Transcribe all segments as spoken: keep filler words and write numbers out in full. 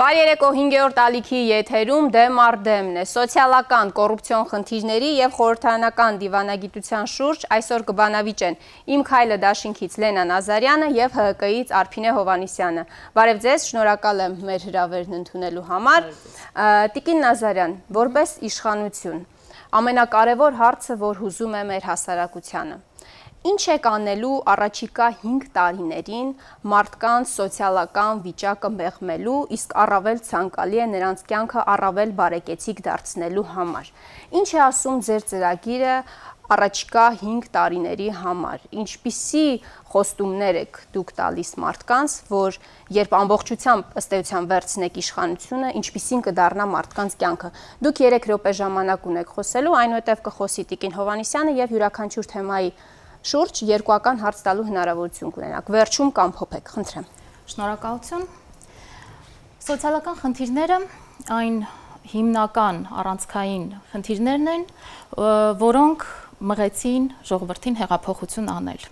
Բարի երեկո, հինգերորդ ալիքի եթերում դեմ առ դեմն է, սոցիալական կոռուպցիոն խնդիրների և խորհրդարանական դիվանագիտության շուրջ այսօր կբանավիճեն Իմ քայլը դաշինքից Լենա Նազարյանը և Հ Հ Կ-ից Արփինե Հովհաննիսյանը։ Բարև ձեզ, շնորհակալ եմ մեր հրավերն ընդունելու համար։ Տիկին Նազարյան, որպես իշխանություն, ամենակարևոր հարցը, որ հուզում է մեր հասարակությանը, ինչ եք անելու առաջիկա հինգ տարիներին մարդկանց սոցիալական վիճակը մեղմելու, իսկ առավել ցանկալի է նրանց կյանքը առավել բարեկեցիկ դարձնելու համար։ Ինչ է ասում ձեր ծրագիրը առաջիկա հինգ տարիների համար, ինչպիսի խոստումներ եք դուք տալիս մարդկանց, որ երբ ամբողջությամբ ըստ էության վերցնեք իշխանությունը, ինչպիսին կդառնա մարդկանց կյանքը։ Դուք երեք րոպե ժամանակ ունեք խոսելու, այնուհետև կխոսի Տիկին Հովհաննիսյանը և յուրաքանչյուր թեմայի շուրջ երկուական հարց տալու հնարավորություն կունենաք։ Վերջում կամփոփեք, խնդրեմ։ Շնորհակալություն։ Սոցիալական խնդիրները այն հիմնական առանցքային խնդիրներն են, որոնք մղեցին ժողովրդին հեղափոխություն անել։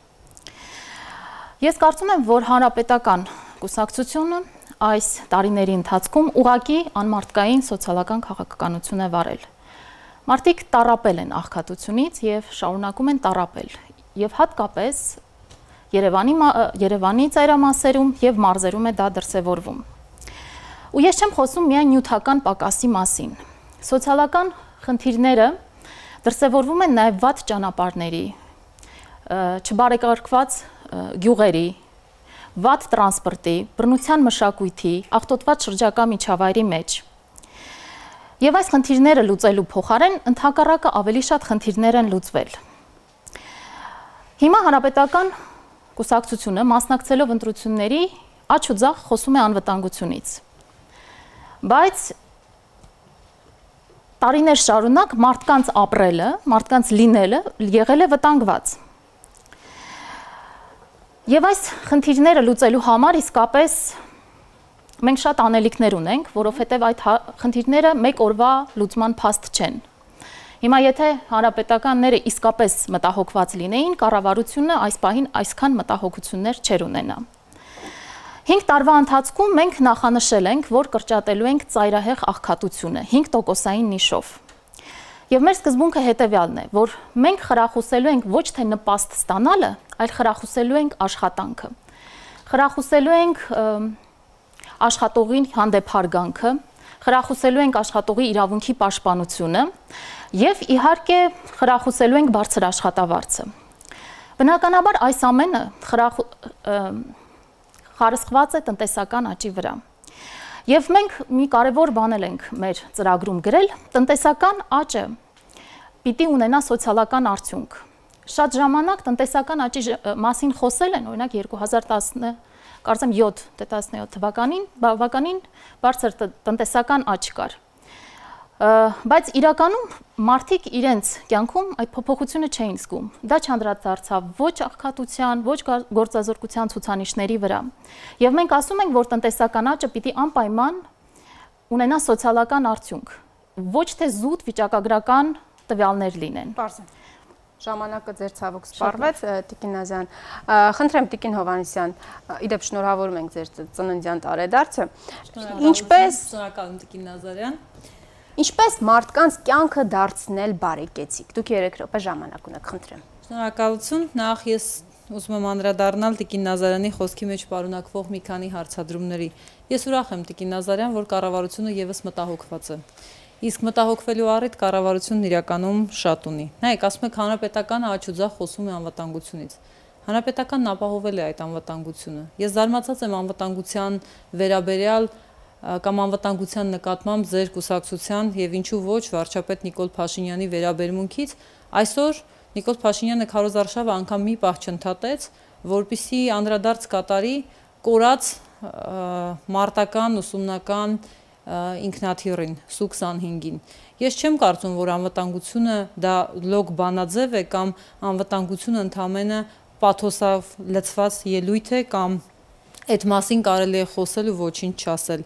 Ես կարծում եմ, որ հանրապետական կուսակցությունը այս տարիների ընթացքում ուղղակի անմարդկային սոցիալական քաղաքականություն է վարել։ Մարդիկ տառապել են աղքատությունից և շարունակում են տառապել, և հատկապես Երևանի, Երևանի ծայրամասերում և մարզերում է դա դրսևորվում։ Ու ես չեմ խոսում միայն նյութական պակասի մասին։ Սոցիալական խնդիրները դրսևորվում են նաև վատ ճանապարհների, չբարեկարգված գյուղերի, վատ տրանսպորտի, բռնության մշակույթի, աղտոտված շրջակա միջավայրի մեջ։ Եվ այս խնդիրները լուծելու փոխարեն ընդհակառակը ավելի շատ խնդիրներ են լուծվել։ Հիմա հանրապետական կուսակցությունը մասնակցելով ընտրությունների աջ ու ձախ խոսում է անվտանգությունից։ Բայց տարիներ շարունակ մարդկանց ապրելը, մարդկանց լինելը եղել է վտանգված։ Եվ այս խնդիրները լուծելու համար իսկապես մենք շատ անելիքներ ունենք, որովհետև այդ խնդիրները մեկ օրվա լուծման փաստ չեն։ Հիմա եթե հանրապետականները իսկապես մտահոգված լինեին, կառավարությունը այս պահին այսքան մտահոգություններ չեր ունենա։ Հինգ տարվա ընթացքում մենք նախանշել ենք, որ կրճատելու ենք ծայրահեղ աղքատությունը հինգ տոկոսային նիշով։ Եվ մեր սկզբունքը հետևյալն է, որ մենք խրախուսելու ենք ոչ թե նպաստ ստանալը, այլ խրախուսելու ենք աշխատանքը։ Խրախուսելու ենք աշխատողին հանդեպ հարգանքը, խրախուսելու ենք աշխատողի իրավունքի պաշտպանությունը և իհարկե խրախուսելու ենք բարձր աշխատավարձը։ Բնականաբար այս ամենը խարսխված է տնտեսական աճի վրա։ Եվ մենք մի կարևոր բան ենք մեր ծրագրում գրել, տնտեսական աճը պիտի ունենա սոցիալական արդյունք։ Շատ ժամանակ տնտեսական աճի մասին խոսել են, օրինակ երկու հազար յոթ թվականին բավականին բարձր տնտեսական աճ կար։ Բայց իրականում մարդիկ իրենց կյանքում այդ փոփոխությունը չէին զգում։ Դա չանդրադարձավ ոչ աղքատության, ոչ գործազրկության ցուցանիշների վրա։ Եվ մենք ասում ենք, որ տնտեսական աճը պիտի անպայման ունենա սոցիալական արդյունք, ոչ թե զուտ վիճակագրական տվյալներ լինեն։ Ժամանակը ձեր ցավոք սպառվեց, Տիկին Նազարյան։ Խնդրեմ Տիկին Հովհաննիսյան, իդեպ շնորհավորում ենք ձեր ծննդյան տարեդարձը։ Ինչպես շնորհակալ եմ Տիկին Նազարյան։ Ինչպես մարդկանց կյանքը դարձնել բարեկեցիկ։ Դուք երեք րոպե ժամանակ ունեք, խնդրեմ։ Շնորհակալություն, նախ ես ուզում եմ անդրադառնալ Տիկին Նազարյանի խոսքի մեջ պարունակվող մի քանի հարցադրումների։ Ես ուրախ եմ Տիկին Նազարյան, որ կառավարությունը եւս մտահոգված է։ Իսկ մտահոգվելու առիթ կառավարությունն իրականում շատ ունի։ Նայեք, ասում եք հանրապետականը աջ ու ձախ խոսում է անվտանգությունից։ Հանրապետականն ապահովել է այդ անվտանգությունը։ Ես զարմացած եմ անվտանգության վերաբերյալ կամ անվտանգության նկատմամբ ձեր կուսակցության եւ ինչու ոչ վարչապետ Նիկոլ Փաշինյանի վերաբերմունքից։ Այսօր Նիկոլ Փաշինյանը քարոզարշավը անգամ մի պահ չընդհատեց, որպեսզի անդրադարձ կատարի կորած մարտական ուսումնական ինքնաթիռին Սու քսանհինգին։ Ես չեմ կարծում, որ անվտանգությունը դա լոկ բանաձև է կամ անվտանգությունը ընդամենը պաթոսով լցված ելույթ է կամ այդ մասին կարելի է խոսել ու ոչինչ չասել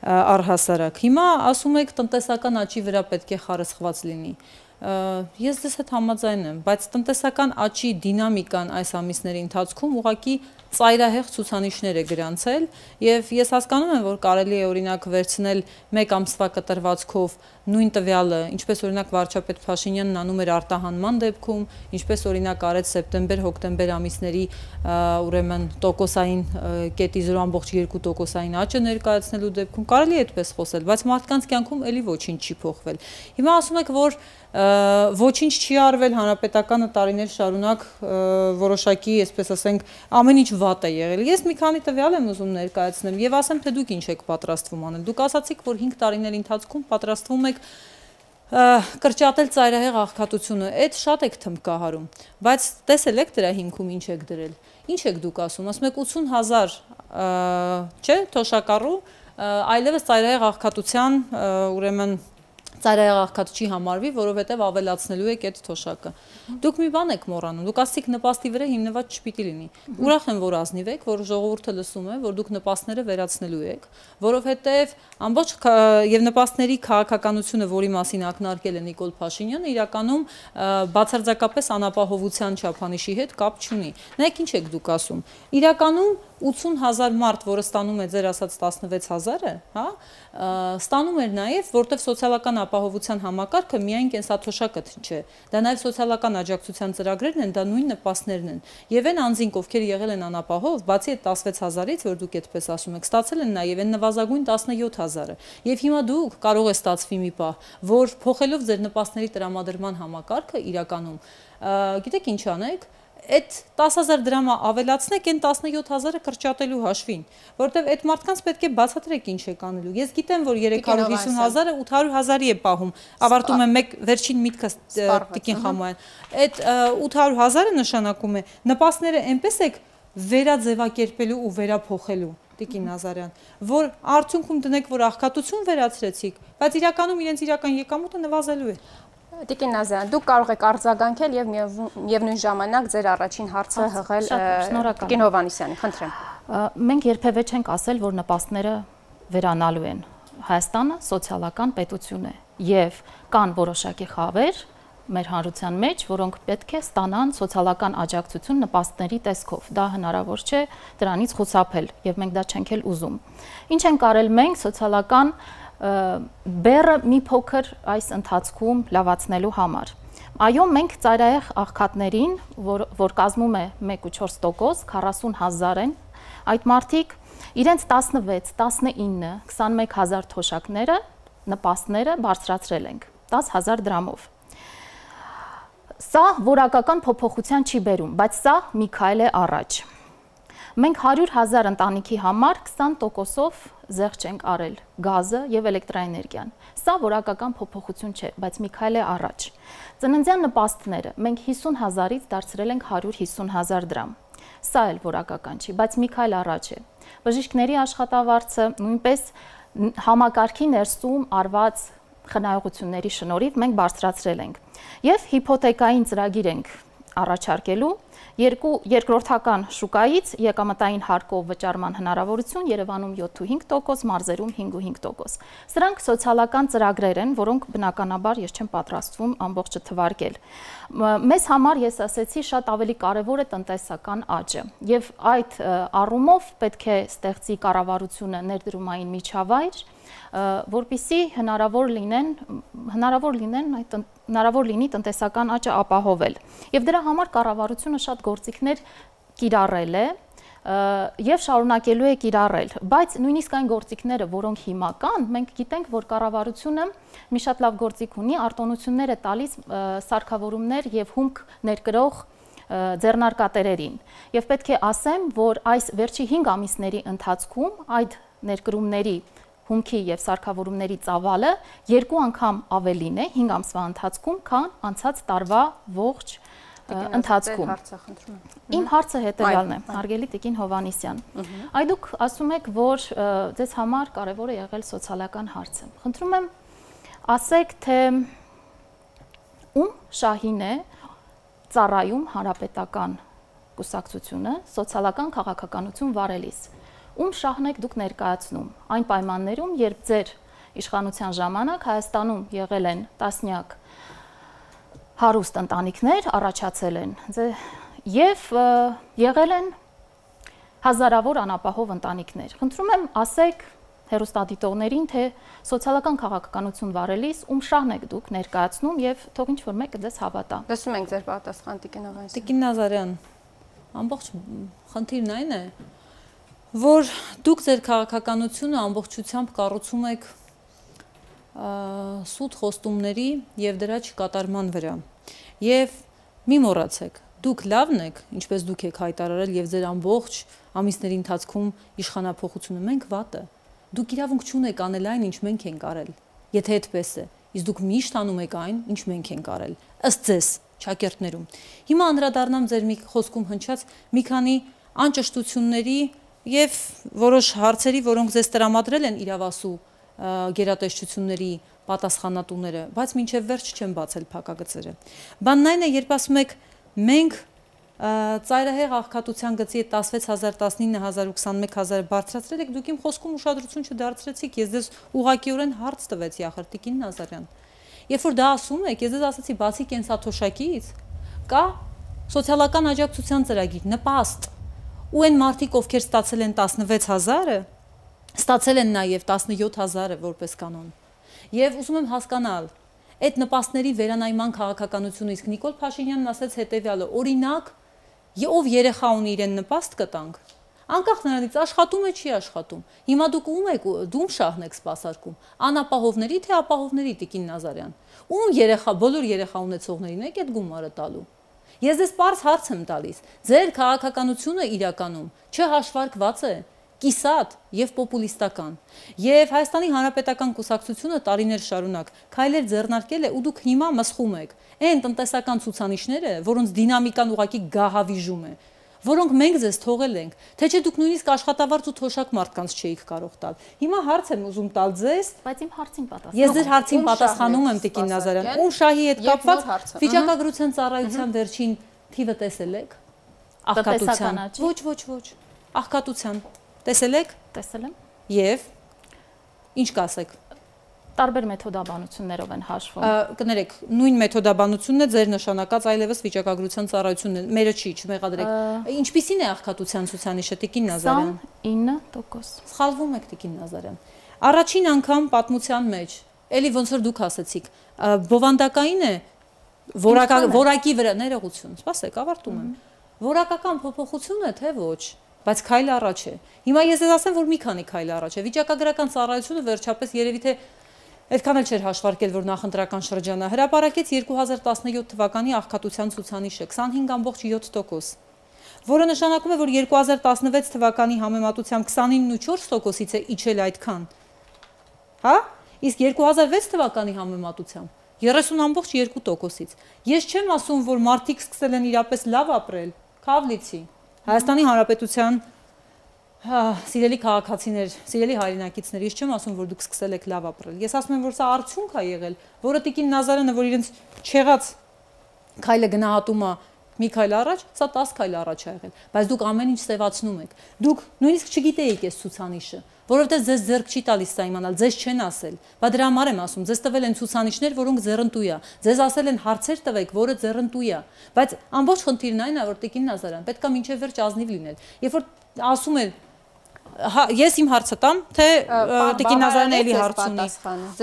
առհասարակ։ Հիմա ասում եք տնտեսական աճի վրա պետք է խարսխված լինի։ Ես դες հետ համաձայն եմ, բայց տնտեսական աճի դինամիկան այս ամիսների ընթացքում ուղղակի ծայրահեղ ցուցանիշներ է գրանցել եւ ես հասկանում եմ, որ կարելի է օրինակ վերցնել մեկ ամսվա կտրվածքով նույն տվյալը, ինչպես օրինակ վարչապետ Փաշինյանն անում էր արտահանման դեպքում, ինչպես օրինակ արեց սեպտեմբեր-հոկտեմբեր ամիսների ուրեմն տոկոսային կետի զրո ամբողջ երկու տոկոսային աճը ներկայացնելու դեպքում կարելի է այդպես խոսել, բայց մարդկանց կյանքում էլի ոչինչ չի փոխվել։ Հիմա ասում եք, որ ոչինչ չի արվել, հանրապետականը տարիներ շարունակ որոշակի, այսպես ասենք, ամեն ինչ վատ է եղել։ Ես մի քանի տվյալ եմ ուզում ներկայացնեմ եւ ասեմ, թե դուք ինչ եք պատրաստվում անել։ Դուք ասացիք, որ հինգ տարիների ընթացքում պատրաստվում եք կրճատել ծայրահեղ աղքատությունը, այդ շատ եք թմբկահարում, բայց տեսել եք դրա հիմքում ինչ եք դրել։ Ինչ եք դուք ասում, ասում եք ութուն հազար, չէ, թոշակառու, այլևս ծայրահեղ աղքատության, ուրեմն ծայրահեղ աղքատ չի համարվի, որովհետև ավելացնելու եք այդ թոշակը։ Դուք մի բան եք մոռանում, դուք ասացիք նպաստի վրա հիմնված չպիտի լինի։ Ուրախ եմ, որ ազնիվ եք, որ ժողովուրդը լսում է, որ դուք նպաստները վերացնելու եք, որովհետև ամբողջ եւ նպաստների քաղաքականությունը, որի մասին ակնարկել է Նիկոլ Փաշինյանը, իրականում բացարձակապես անապահովության չափանիշի հետ կապ չունի։ Նայեք ինչ եք դուք ասում։ Իրականում ութուն հազար մարդ, որը ստանում է ձեր ասած տասնվեց հազարը, հա, ստանում էր նաև, որտեղ սոցիալական ապահովության համակարգը միայն կենսաթոշակը չէ, դա նաև սոցիալական աջակցության ծրագրերն են, դա նույն նպաստներն են։ Եվ այն անձինք, ովքեր եղել են անապահով, բացի այդ տասնվեց հազարից, որ դուք այդպես ասում եք, ստացել են նաև այն նվազագույն տասնյոթ հազարը։ Եվ հիմա դուք կարող է ստացվի մի պահ, որ փոխելով ձեր նպաստների տրամադրման համակարգը իրականում, գիտեք ինչ անեք, այդ տասը հազար դրամը ավելացնեք այն տասնյոթ հազարը կրճատելու հաշվին, որովհետև այդ մարդկանց պետք է բացատրեք ինչ եք անելու։ Ես գիտեմ, որ երեք հարյուր հիսուն հազարը ութ հարյուր հազարի է պահում, ավարտում եմ մեկ վերջին միտքս Տիկին Խամոյան։ Այդ ութ հարյուր հազարը նշանակում է նպաստները այնպես եք վերաձևակերպելու ու վերափոխելու, Տիկին Նազարյան, որ արդյունքում դնեք, որ աղքատություն վերացրեցիք, բայց իրականում իրենց իրական եկամուտը նվազելու է։ Տիկին Նազարյան, դուք կարող եք արձագանքել եւ միևնույն ժամանակ ձեր առաջին հարցը հղել Տիկին Հովհաննիսյանին, խնդրեմ։ Մենք երբևէ չենք ասել, որ նպաստները վերանալու են։ Հայաստանը սոցիալական պետություն է եւ կան որոշակի խավեր մեր հանրության մեջ, որոնք պետք է ստանան սոցիալական աջակցություն նպաստների տեսքով։ Դա հնարավոր չէ դրանից խուսափել եւ մենք դա չենք էլ ուզում։ Ինչ ենք արել մենք սոցիալական բերը մի փոքր այս ընթացքում լավացնելու համար։ Այո, մենք ծայրահեղ աղքատներին, որ, որ կազմում է մեկ ու չորս տոկոս, քառասուն հազար են, այդ մարդիկ իրենց տասնվեց, տասնինը, քսանմեկ հազար թոշակները, նպաստները բարձրացրել ենք, տասը հազար դրամով։ Սա որակական փոփոխության չի բերում, բայց սա մի քայլ է առաջ։ Մենք հարյուր հազար ընտանիքի համար քսան տոկոսով զեղչ ենք արել գազը եւ էլեկտրաէներգիան։ Սա որակական փոփոխություն չէ, բայց մի քայլ է առաջ։ Ծննդյան նպաստները մենք հիսուն հազարից դարձրել ենք հարյուր հիսուն հազար դրամ։ Սա էլ որակական չի, բայց մի քայլ առաջ է։ Բժիշկների աշխատավարձը նույնպես համակարգի ներսում արված խնայողությունների շնորհիվ մենք բարձրացրել ենք։ Եվ հիփոթեկային ծրագիր ենք առաջարկելու երկու երկրորդական շուկայից եկամտային հարկով վճարման հնարավորություն Երևանում յոթ ու հինգ տոկոս, մարզերում հինգ ու հինգ տոկոս։ Սրանք սոցիալական ծրագրեր են, որոնք բնականաբար ես չեմ պատրաստվում ամբողջը թվարկել։ Մեզ համար, ես ասեցի, շատ ավելի կարևոր է տնտեսական աճը եւ այդ առումով պետք է ստեղծի կառավարությունը ներդրումային միջավայր, որպեսզի հնարավոր լինեն հնարավոր լինեն այդ հնարավոր լինի տնտեսական աճը ապահովել։ Եվ դրա համար կառավարությունը շատ գործիքներ կիրառել է եւ շարունակելու է կիրառել, բայց նույնիսկ այն գործիքները, որոնք հիմա կան, մենք գիտենք, որ կառավարությունը մի շատ լավ գործիք ունի, արտոնություններ է տալիս սարքավորումներ եւ հումք ներկրող ձեռնարկատերերին։ Եվ պետք է ասեմ, որ այս վերջի հինգ ամիսների ընթացքում այդ ներկրումների հումքի եւ սարքավորումների ծավալը երկու անգամ ավելին է հինգ ամսվա ընթացքում, քան անցած տարվա ողջ ընթացքում։ Իմ հարցը հետեւյալն է, հարգելի Տիկին Հովհաննիսյան։ Այ դուք ասում եք, որ ձեզ համար կարևոր է եղել սոցիալական հարցը։ Խնդրում եմ, ասեք, թե ում շահին է ծառայում հանրապետական կուսակցությունը սոցիալական քաղաքականություն վարելիս։ Ում շահն եք դուք ներկայացնում այն պայմաններում, երբ ձեր իշխանության ժամանակ Հայաստանում եղել են տասնյակ հարուստ ընտանիքներ, առաջացել են եւ եղել են հազարավոր անապահով ընտանիքներ։ Խնդրում եմ ասեք հերոստատիտողներին, թե սոցիալական քաղաքականություն վարելիս ում շահն եք դուք ներկայացնում եւ թող ինչ-որ մեկը դες հավատա։ Լսում ենք ձեր պատասխան Տիկին Հովհաննիսյան։ Տիկին Նազարյան, ամբողջ խնդիրն այն է, որ դուք ձեր քաղաքականությունը ամբողջությամբ կառուցում եք սուտ խոստումների եւ դրա չկատարման վրա։ Եվ մի մոռացեք, դուք լավն եք, ինչպես դուք եք հայտարարել եւ ձեր ամբողջ ամիսների ընթացքում իշխանապողությունը, մենք վատը։ Դուք իրավունք չունեք անել այն, ինչ մենք ենք արել։ Եթե այդպես է, իսկ դուք միշտ անում եք այն, ինչ մենք ենք արել, ըստ ձեզ ճակերտներում։ Հիմա անդրադառնամ ձեր մի խոսքում հնչած մի քանի անճշտությունների եւ որոշ հարցերի, որոնք ձեզ տրամադրել են իրավասու գերատեսչությունների պատասխանատուները, բայց մինչև վերջ չեն բացել փակագծերը։ Բանն այն է, երբ ասում եք մենք ծայրահեղ աղքատության գծի տասնվեց հազար տասնինը հազար ու քսանմեկ հազար բարձրացրել եք, դուք իմ խոսքում ուշադրություն չդարձրեցիք, ես ձեզ ուղղակիորեն հարց տվեցի ախր Տիկին Նազարյան։ Երբ որ դա ասում եք, ես ձեզ ասացի բացի կենսաթոշակից կա սոցիալական աջակցության ծրագիր, նպաստ, ու այն մարդիկ, ովքեր ստացել են տասնվեց հազարը, ստացել են նաև տասնյոթ հազարը որպես կանոն։ Եվ ուզում եմ հասկանալ, այդ նպաստների վերանայման քաղաքականությունը, իսկ Նիկոլ Փաշինյանն ասաց հետևյալը, օրինակ, ով երեխա ունի իրեն նպաստ կտանք, անկախ նրանից աշխատում է, չի աշխատում։ Հիմա դուք ում եք, դու շահն եք սպասարկում, անապահովների թե ապահովների Տիկին Նազարյան։ Ում երեխա, բոլոր երեխա ունեցողներին եք այդ գումարը տալու։ Ես ձեզ պարզ հարց եմ տալիս, ձեր քաղաքականությունը իրականում չհաշվարկված է, կիսատ եւ պոպուլիստական։ Եվ Հայաստանի Հանրապետական կուսակցությունը տարիներ շարունակ քայլեր ձեռնարկել է ու դուք հիմա մսխում եք այն տնտեսական ցուցանիշները, որոնց դինամիկան ուղղակի գահավիժում է, որոնք մենք ձեզ թողել ենք, թե չէ դուք նույնիսկ աշխատավարձ ու թոշակ մարդկանց չէիք կարող տալ։ Հիմա հարց եմ ուզում տալ ձեզ, բայց իմ հարցին պատասխան։ Ես ձեր հարցին պատասխանում եմ Տիկին Նազարյան։ Ում շահի հետ կապված վիճակագրության ծառայության վերջին թիվը տեսել եք։ Աղքատության։ Ոչ, ոչ, ոչ։ Աղքատության տեսել եք։ Տեսել եմ։ Եվ ինչ կասեք։ Տարբեր մեթոդաբանություններով են հաշվում։ Կներեք, նույն մեթոդաբանությունն է ձեր նշանակած այլևս վիճակագրության ծառայությունն է։ Մերը չի, չմեղադրեք։ Ինչպիսին է աղքատության ցուցանիշը Տիկին Նազարյան։ ինը տոկոս։ Սխալվում եք Տիկին Նազարյան։ Առաջին անգամ պատմության մեջ, էլի ոնց որ դուք ասացիք, բովանդակային է որակի վրա ներողություն, սպասեք, ավարտում եմ։ Որակական փոփոխություն է, թե ոչ։ Բայց քայլ առաջ է։ Հիմա ես ես ասեմ, որ մի քանի քայլ առաջ է։ Վիճակագրական ծառայությունը վերջապես երևի թե այդքան էլ չէր հաշվարկել, որ նախընտրական շրջանը հրապարակեց երկու հազար տասնյոթ թվականի աղքատության ցուցանիշը քսանհինգ ամբողջ յոթ տոկոս, որը նշանակում է, որ երկու հազար տասնվեց թվականի համեմատությամբ քսանինը ու չորս տոկոսից է իջել այդքան։ Հա? Իսկ երկու հազար վեց թվականի համեմատությամբ երեսուն ամբողջ երկու տոկոսից։ Ես չեմ ասում, որ մարդիկ սկսել են իրապես լավ ապրել, Քավլիցի, Հայաստանի Հանրապետության սիրելի քաղաքացիներ, սիրելի հայրենակիցներ, ես չեմ ասում, որ դուք սկսել եք լավ ապրել։ Ես ասում եմ, որ սա արդյունք է եղել, որը Տիկին Նազարյանը, որ իրենց չեղած քայլը գնահատում է մի քայլ առաջ, սա տասը քայլ առաջ է եղել, բայց դուք ամեն ինչ սևացնում եք։ Դուք նույնիսկ չգիտեիք այս ցուցանիշը, որովհետև ձեզ ձեռք չի տալիս սա իմանալ, ձեզ չեն ասել։ Բա դրա համար եմ ասում, ձեզ տվել են ցուցանիշներ, որոնք ձեռնտու է։ Ձեզ ասել են հարցեր տվեք, որը ձեռնտու է։ Բայց ամբողջ խնդիրն այն է, որ Տիկին Նազարյան պետք է մինչև վերջ ազնիվ լինել։ Երբ որ ասում են ես իմ հարցը տամ, թե Տիկին Նազարյանը էլի հարց ունի։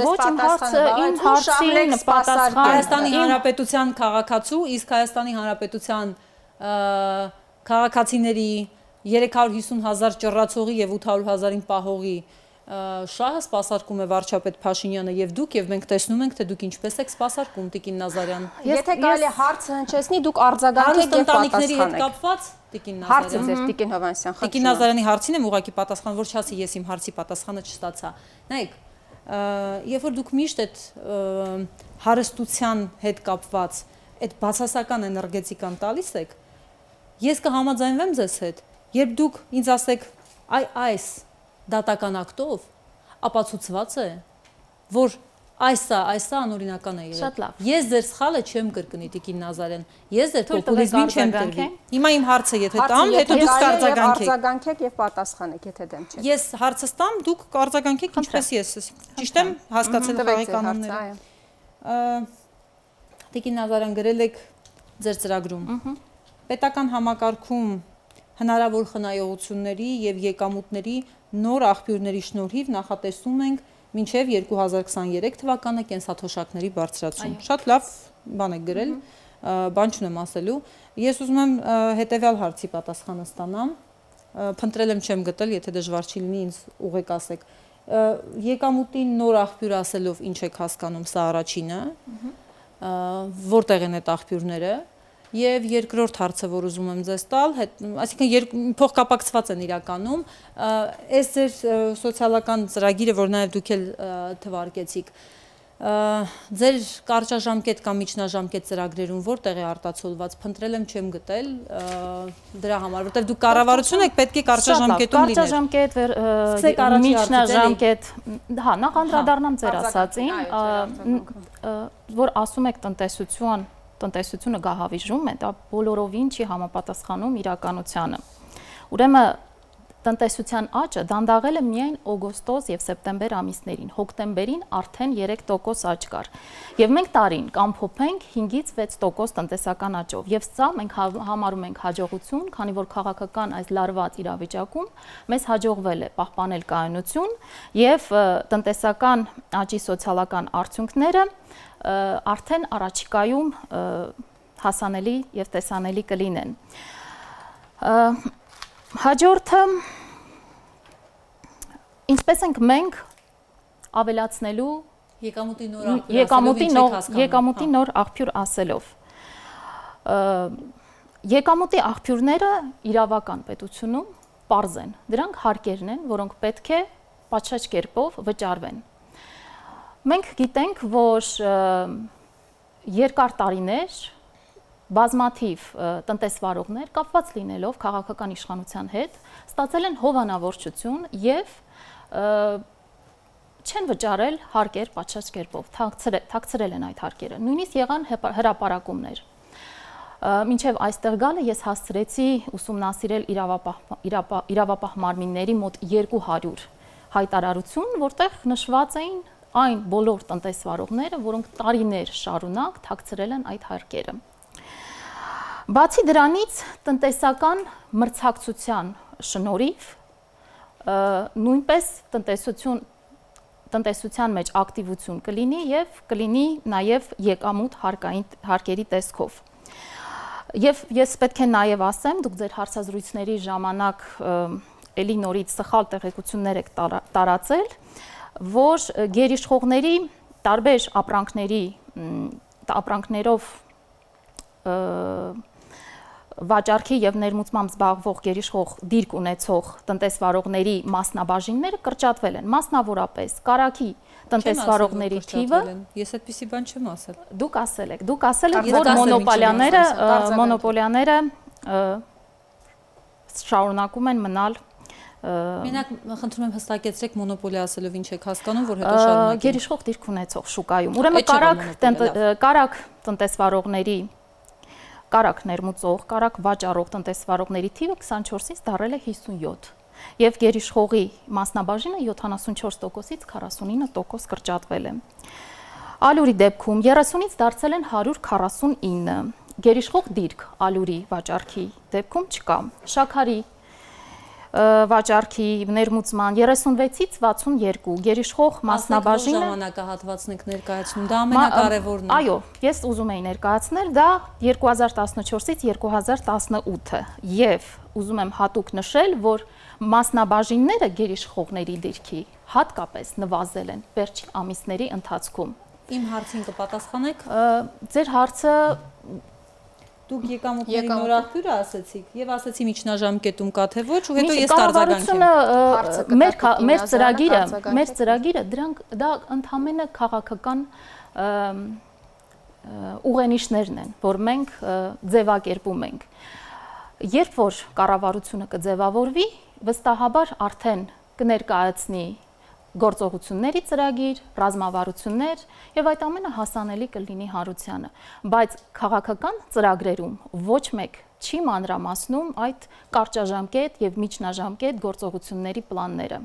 Ոչ, իմ հարցը, իմ հարցին պատասխան Հայաստանի Հանրապետության քաղաքացու, իսկ Հայաստանի Հանրապետության քաղաքացիների երեք հարյուր հիսուն հազար ճռռացողի եւ ութ հարյուր հազարին պահողի շահը սպասարկում է վարչապետ Փաշինյանը եւ դուք եւ մենք տեսնում ենք, թե դուք ինչպես եք սպասարկում Տիկին Նազարյան։ Եթե կարելի հարցը հնչեցնի, դուք արձագանքեք եւ պատասխանեք։ Տիկին Նազարյան։ Հարցը ձեր Տիկին Հովհաննիսյան, խնդրում եմ։ Տիկին Նազարյանի հարցին եմ ուղղակի պատասխան, որ չասի ես իմ հարցի պատասխանը չստացա։ Նայեք, երբ որ դուք միշտ այդ հարստության հետ կապված այդ բացասական էներգետիկան տալիս եք, ես կհամաձայնվեմ ձեզ հետ, երբ դուք ինձ ասեք այ այս դատական ակտով ապացուցված է, որ այսա, այսա անօրինական է եղել։ Շատ լավ։ Ես ձեր սխալը չեմ կրկնի Տիկին Նազարյան։ Ես ձեր պոպուլիզմին չեմ կրկնի։ Հիմա իմ հարցը եթե տամ, հետո դուք կարձագանքեք։ Արձագանքեք եւ պատասխանեք, եթե դեմ չեք։ Ես հարցս տամ, դուք կարձագանքեք ինչպես ես։ Ճիշտ եմ հասկացել խաղի կանոնները։ Տիկին Նազարյան, գրել եք ձեր ծրագրում։ Պետական համակարգում հնարավոր խնայողությունների եւ եկամուտների նոր աղբյուրների շնորհիվ նախատեսում ենք մինչև երկու հազար քսաներեք թվականը կենսաթոշակների բարձրացում։ Շատ լավ բան եք գրել, բան չունեմ ասելու։ Ես ուզում եմ հետեւյալ հարցի պատասխանը ստանամ։ Փնտրել եմ չեմ գտել, եթե դժվար չի լինի ինձ ուղղեք ասեք։ Եկամուտին նոր աղբյուր ասելով ինչ եք հասկանում, սա առաջինը, որտեղ են այդ աղբյուրները, եւ երկրորդ հարցը, որ ուզում եմ ձեզ տալ, այսինքն փոխկապակցված են իրականում, այս ձեր սոցիալական ծրագիրը, որ նաեւ դուք էլ թվարկեցիք, ձեր կարճաժամկետ կամ միջնաժամկետ ծրագրերում որտեղ է արտացոլված, փնտրել եմ չեմ գտել դրա համար, որտեղ դուք կառավարություն եք, պետք է կարճաժամկետում լիներ։ Կարճաժամկետ, միջնաժամկետ, հա, նախ անդրադառնամ ձեր ասածին, որ ասում եք տնտեսություն, տնտեսությունը գահավիժում է, դա բոլորովին չի համապատասխանում իրականությանը։ Ուրեմն տնտեսության աճը դանդաղել է միայն օգոստոս եւ սեպտեմբեր ամիսներին, հոկտեմբերին արդեն երեք տոկոս աճ կար։ Եվ մենք տարին կամփոփենք հինգից վեց տոկոս տնտեսական աճով։ Եվ սա մենք համարում ենք հաջողություն, քանի որ քաղաքական այս լարված իրավիճակում մեզ հաջողվել է պահպանել կայունություն եւ տնտեսական աճի սոցիալական արդյունքները արդեն առաջիկայում հասանելի եւ տեսանելի կլինեն։ Հաջորդը ինչպես ենք մենք ավելացնելու եկամուտի նոր աղբյուր ասելով։ Եկամուտի աղբյուրները իրավական պետությունում պարզ են, դրանք հարկերն են, որոնք պետք է պատշաճ կերպով վճարվեն։ Մենք գիտենք, որ երկար տարիներ բազմաթիվ տնտեսվարողներ կապված լինելով քաղաքական իշխանության հետ ստացել են հովանավորչություն եւ չեն վճարել հարկեր պատշաճ կերպով, թաքցրել են այդ հարկերը։ Նույնիսկ եղան հրապարակումներ։ Մինչև այստեղ գալը ես հասցրեցի ուսումնասիրել իրավապահ մարմինների մոտ երկու հարյուր հայտարարություն, որտեղ նշված էին այն բոլոր տնտեսվարողները, որոնք տարիներ շարունակ թաքցրել են այդ հարկերը։ Բացի դրանից տնտեսական մրցակցության շնորհիվ նույնպես տնտեսություն տնտեսության մեջ ակտիվություն կլինի եւ կլինի նաեւ եկամուտ հարկերի տեսքով։ Եվ ես պետք է նաեւ ասեմ, դուք ձեր հարցազրույցների ժամանակ էլի նորից սխալ տեղեկություններ եք տարածել, որ գերիշխողների տարբեր ապրանքների ապրանքներով վաճառքի եւ ներմուծմամբ զբաղվող գերիշխող դիրք ունեցող տնտեսվարողների մասնաբաժինները կրճատվել են, մասնավորապես կարագի տնտեսվարողների թիվը։ Ես այդպիսի բան չեմ ասել։ Դուք ասել եք, դուք ասել եք, որ մոնոպոլիաները, մոնոպոլիաները շարունակում են մնալ։ Մենակ խնդրում եմ հստակեցրեք մոնոպոլիա ասելով ինչ եք հասկանում, որ հետո շարունակենք։ Գերիշխող դիրք ունեցող շուկայում։ Ուրեմն կարագ տնտեսվարողների կարագ ներմուծող, կարագ վաճառող տնտեսվարողների թիվը քսանչորսից դառել է հիսունյոթ եւ գերիշխողի մասնաբաժինը յոթանասունչորս տոկոսից քառասունինը տոկոս կրճատվել է։ Ալյուրի դեպքում երեսունից դարձել են հարյուր քառասունինը, գերիշխող դիրք ալյուրի վաճառքի դեպքում չկա։ Շաքարի վաճառքի ներմուծման երեսունվեցից վաթսունյոթ, գերիշխող մասնաբաժինը ժամանակահատվածն եք ներկայացնում, դա ամենակարևորն է։ Այո, ես ուզում եի ներկայացնել դա երկու հազար տասնչորսից երկու հազար տասնութը եւ ուզում եմ հատուկ նշել, որ մասնաբաժինները գերիշխողների դիրքի հատկապես նվազել են վերջին ամիսների ընթացքում։ Իմ հարցին կպատասխանեք։ Ձեր հարցը Դուք եկամուտների նոր աղբյուրը ասացիք եւ ասացի միջնաժամկետում կա թե ոչ, ու հետո ես արձագանքեմ։ Մեր ծրագիրը, մեր ծրագիրը դրանք դա ընդհանրապես քաղաքական ուղենիշներն են, որ մենք ձևակերպում ենք։ Երբ որ կառավարությունը կձևավորվի, վստահաբար արդեն կներկայացնի գործողությունների ծրագիր, ռազմավարություններ եւ այդ ամենը հասանելի կլինի հանրությանը, բայց քաղաքական ծրագրերում ոչ մեկ չի մանրամասնում այդ կարճաժամկետ եւ միջնաժամկետ գործողությունների պլանները։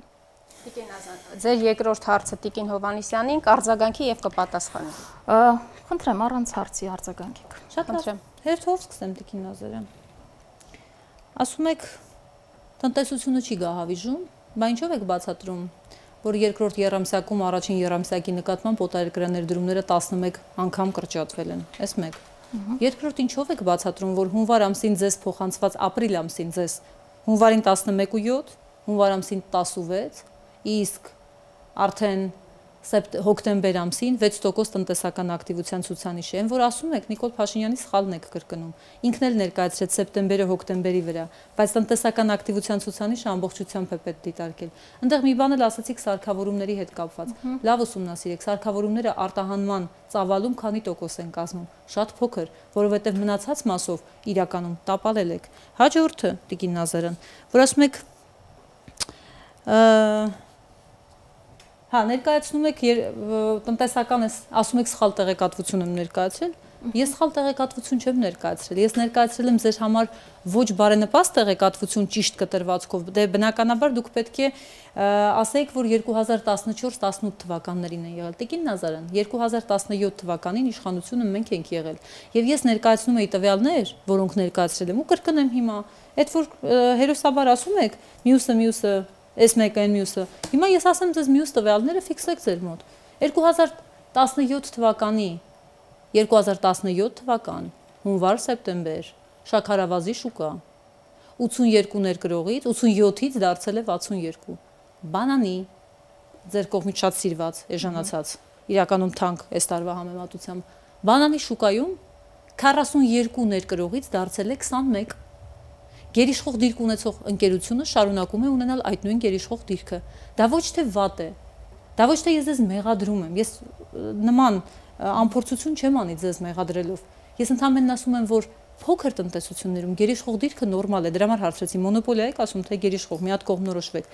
Տիկին Ազատ, ձեր երկրորդ հարցը Տիկին Հովհաննիսյանին կարձագանքի եւ կպատասխանի։ Խնդրեմ առանց հարցի արձագանքեք։ Շատ լավ։ Հերթով սկսեմ Տիկին Նազարյան։ Ասում եք տնտեսությունը չի գահավիժում, բա ինչով եք բացատրում, որ երկրորդ եռամսյակում առաջին եռամսյակի նկատմամբ օտարերկրյա ներդրումները տասնմեկ անգամ կրճատվել են։ Էս մեկ։ Երկրորդ ինչով եք բացատրում, որ հունվար ամսին ձեզ փոխանցված ապրիլ ամսին ձեզ հունվարին տասնմեկ ու յոթ, հունվար ամսին տասնվեց, իսկ արդեն հոկտեմբեր ամսին վեց տոկոս տնտեսական ակտիվության ցուցանիշ է, որ ասում եք Նիկոլ Փաշինյանի սխալն եք կրկնում։ Ինքն էլ ներկայացրեց սեպտեմբերը հոկտեմբերի վրա, բայց տնտեսական ակտիվության ցուցանիշը ամբողջությամբ է պետք դիտարկել։ Այնտեղ մի բան էլ ասացիք սարքավորումների հետ կապված։ Լավ ուսումնասիրեք, սարքավորումները արտահանման ծավալում քանի տոկոս են կազմում։ Շատ փոքր, որովհետև մնացած մասով իրականում տապալել եք։ Հաջորդը Տիկին Նազարյան, որ ասում եք Հա, ներկայացնում եք տնտեսական ես, ասում եք սխալ տեղեկատվություն եմ ներկայացրել, ես սխալ տեղեկատվություն չեմ ներկայացրել, ես ներկայացրել եմ ձեր համար ոչ բարենպաստ տեղեկատվություն ճիշտ կտրվածքով, դե բնականաբար դուք պետք է ասեիք, որ երկու հազար տասնչորս տասնութ թվականներին են եղել։ Տիկին Նազարյան, երկու հազար տասնյոթ թվականին իշխանությունը մենք ենք եղել, եւ ես ներկայացնում եի տվյալներ, որոնք ներկայացրել եմ ու կրկնեմ հիմա, այդ որ հերոսաբար ասում եք, մյուսը մյուսը Էս մեկը այն մյուսը։ Հիմա ես ասեմ ձեզ մյուս տվյալները ֆիքսեք ձեր մոտ։ երկու հազար տասնյոթ թվականի, երկու հազար տասնյոթ թվական, հունվար սեպտեմբեր, շաքարավազի շուկա, ութսունյոթ ներկրողից, ութսունյոթից դարձել է վաթսունյոթ։ Բանանի, ձեր կողմից շատ սիրված, էժանացած, իրականում թանկ այս տարվա համեմատությամբ, բանանի շուկայում քառասունյոթ ներկրողից դարձել է քսանմեկ։ Գերիշխող դիրք ունեցող ընկերությունը շարունակում է ունենալ այդ նույն գերիշխող դիրքը։ Դա ոչ թե վատ է։ Դա ոչ թե ես ձեզ մեղադրում եմ։ Ես նման ամփորձություն չեմ անի ձեզ մեղադրելով։ Ես ընդհանրապես ասում եմ, որ փոքր տնտեսություններում գերիշխող դիրքը նորմալ է։ Դրա համար հարցրեցի, մոնոպոլիա եք ասում, թե գերիշխող, մի հատ կողմնորոշվեք։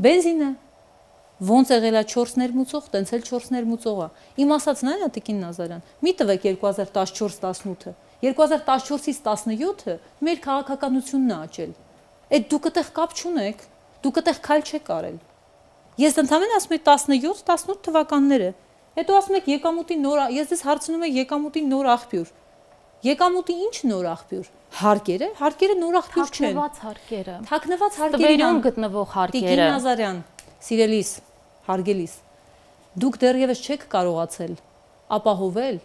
Բենզինը ոնց եղել է չորս ներմուծող, տենց էլ չորս ներմուծող է։ Իմ ասածն այն է, Տիկին Նազարյան, մի տվեք երկու հազար տասնչորս տասնութը, երկու հազար տասնչորսից տասնյոթը մեր քաղաքականությունն է աճել։ Այդ դուք այդտեղ կապ չունեք, դուք այդտեղ քայլ չեք արել։ Ես ընդհանրապես ասում եմ տասնյոթ տասնութ թվականները։ Հետո ասում եք եկամուտի նոր, ես ձեզ հարցնում եմ եկամուտի նոր աղբյուր։ Եկամուտի ինչ նոր աղբյուր։ Հարկերը, հարկերը նոր աղբյուր չեն։ Թաքնված հարկերը։ Թաքնված հարկերը Տվերում գտնվող հարկերը։ Տիկին Նազարյան, սիրելիս, հարգելիս, դուք դեռևս չեք կարողացել ապահովել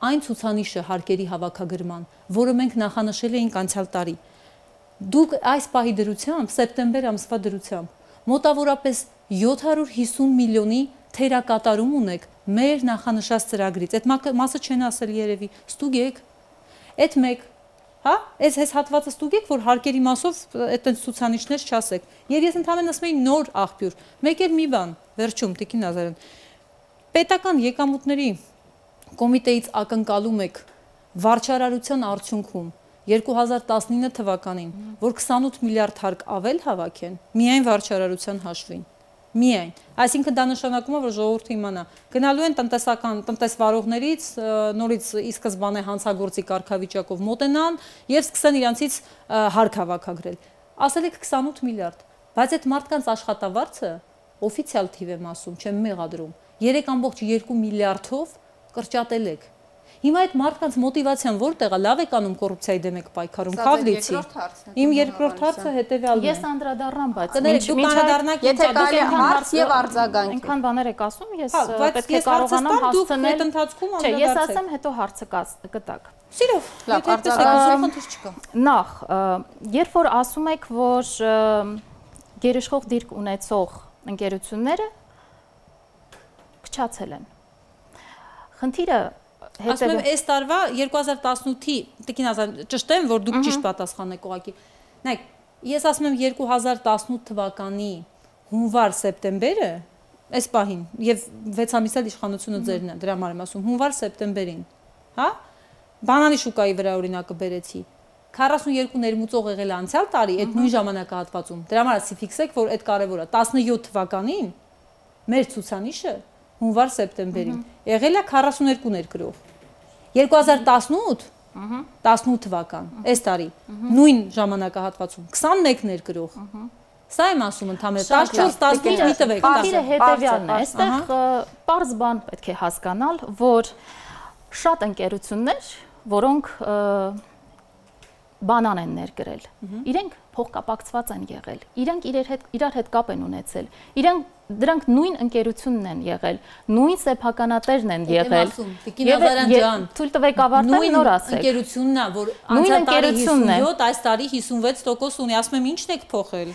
այն ցուցանիշը հարկերի հավաքագրման, որը մենք նախանշել էինք անցյալ տարի։ Դուք այս պահի դրությամբ, սեպտեմբեր ամսվա դրությամբ մոտավորապես յոթ հարյուր հիսուն միլիոնի թերակատարում ունեք մեր նախանշած ծրագրից։ Այդ մասը չեն ասել երևի, ստուգեք։ Այդ մեկ, հա, այս այս հատվածը ստուգեք, որ հարկերի մասով այդտենց ցուցանիշներ չասեք։ Եվ ես ընդհանրապես ասում եմ նոր աղբյուր։ Մեկ էլ մի բան, վերջում Տիկին Նազարյան։ Պետական եկամուտների կոմիտեից ակնկալում եք վարչարարության արդյունքում երկու հազար տասնինը թվականին, որ քսանութ միլիարդ հարկ ավել հավաքեն, միայն վարչարարության հաշվին։ Միայն, այսինքն դա նշանակում է, որ ժողովուրդը իմանա, գնալու են տնտեսական տնտեսվարողներից նորից ի սկզբանե հանցագործի կարգավիճակով մոտենան եւ սկսեն իրանցից հարկ հավաքագրել։ Ասել եք քսանութ միլիարդ, բայց այդ մարդկանց աշխատավարձը օֆիցիալ թիվ եմ ասում, չեմ մեղադրում, երեք ամբողջ երկու միլիարդով կրճատել եք։ Հիմա այդ մարդկանց մոտիվացիան որտեղ է, լավ եք անում կոռուպցիայի դեմ եք պայքարում, Քավլիցի։ Իմ երկրորդ հարցը հետեւյալն է։ Ես անդրադառնամ, բայց դուք անդրադառնաք, եթե կարելի է հարց եւ արձագանք։ Այնքան բաներ եք ասում, ես պետք է կարողանամ հասցնել ընթացքում Չէ, ես ասեմ, հետո հարցը կտակ։ Սիրով, լավ, արձագանք չկա։ Նախ, երբ որ ասում եք, որ գերիշխող դիրք ունեցող ընկերությունները քչացել են։ Խնդիրը Ասում եմ, այս տարվա երկու հազար տասնութի, Տիկին Նազարյան, ճշտեմ, որ դուք ճիշտ պատասխան եք ուղղակի։ Նայեք, ես ասում եմ երկու հազար տասնութ թվականի հունվար սեպտեմբերը, այս պահին, եւ վեց ամիս էլ իշխանությունը ձերն է, դրա համար եմ ասում, հունվար սեպտեմբերին, հա? Բանանի շուկայի վրա օրինակը բերեցի։ քառասունյոթ ներմուծող եղել է անցյալ տարի, այդ նույն ժամանակահատվածում։ Դրա համար ասի ֆիքսեք, որ այդ կարևոր է։ տասնյոթ թվականին մեր ցուցանիշը հունվար սեպտեմբերին եղել է քառասունյոթ ներկրող։ երկու հազար տասնութ տասնութ թվական, այս տարի, նույն ժամանակահատվածում քսանմեկ ներկրող։ Սա եմ ասում ընդհանրապես տասնչորս տասնինը մի տվեք։ Խնդիրը հետևյալն է, այստեղ պարզ բան պետք է հասկանալ, որ շատ ընկերություններ, որոնք բանան են ներգրել։ Իրենք փոխկապակցված են եղել։ Իրենք իրար հետ իրար հետ կապ են ունեցել։ Իրենք դրանք նույն ընկերությունն են եղել, նույն սեփականատերն են եղել։ Տիկին Նազարյան ջան, թույլ տվեք ավարտել, նոր ասեք։ Ընկերությունն է, որ անցյալ տարի հիսունյոթ, այս տարի հիսունվեց տոկոս ունի, ասում եմ ի՞նչն եք փոխել։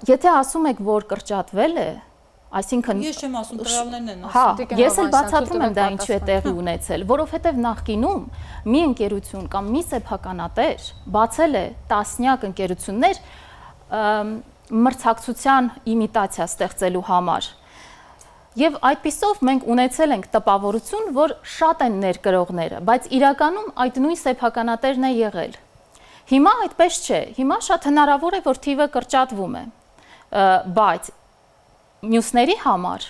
Եթե ասում եք, որ կրճատվել է, այսինքն ես չեմ ասում, տվյալներն են ասում։ Հա, ես էլ բացատրում եմ դա ինչու է տեղի ունեցել, որովհետև նախկինում մի ընկերություն կամ մի սեփականատեր բացել է տասնյակ ընկերություններ մրցակցության իմիտացիա ստեղծելու համար։ Եվ այդպիսով մենք ունեցել ենք տպավորություն, որ շատ են ներկրողները, բայց իրականում այդ նույն սեփականատերն է եղել։ Հիմա այդպես չէ, հիմա շատ հնարավոր է, որ թիվը կրճատվում է, բայց մյուսների համար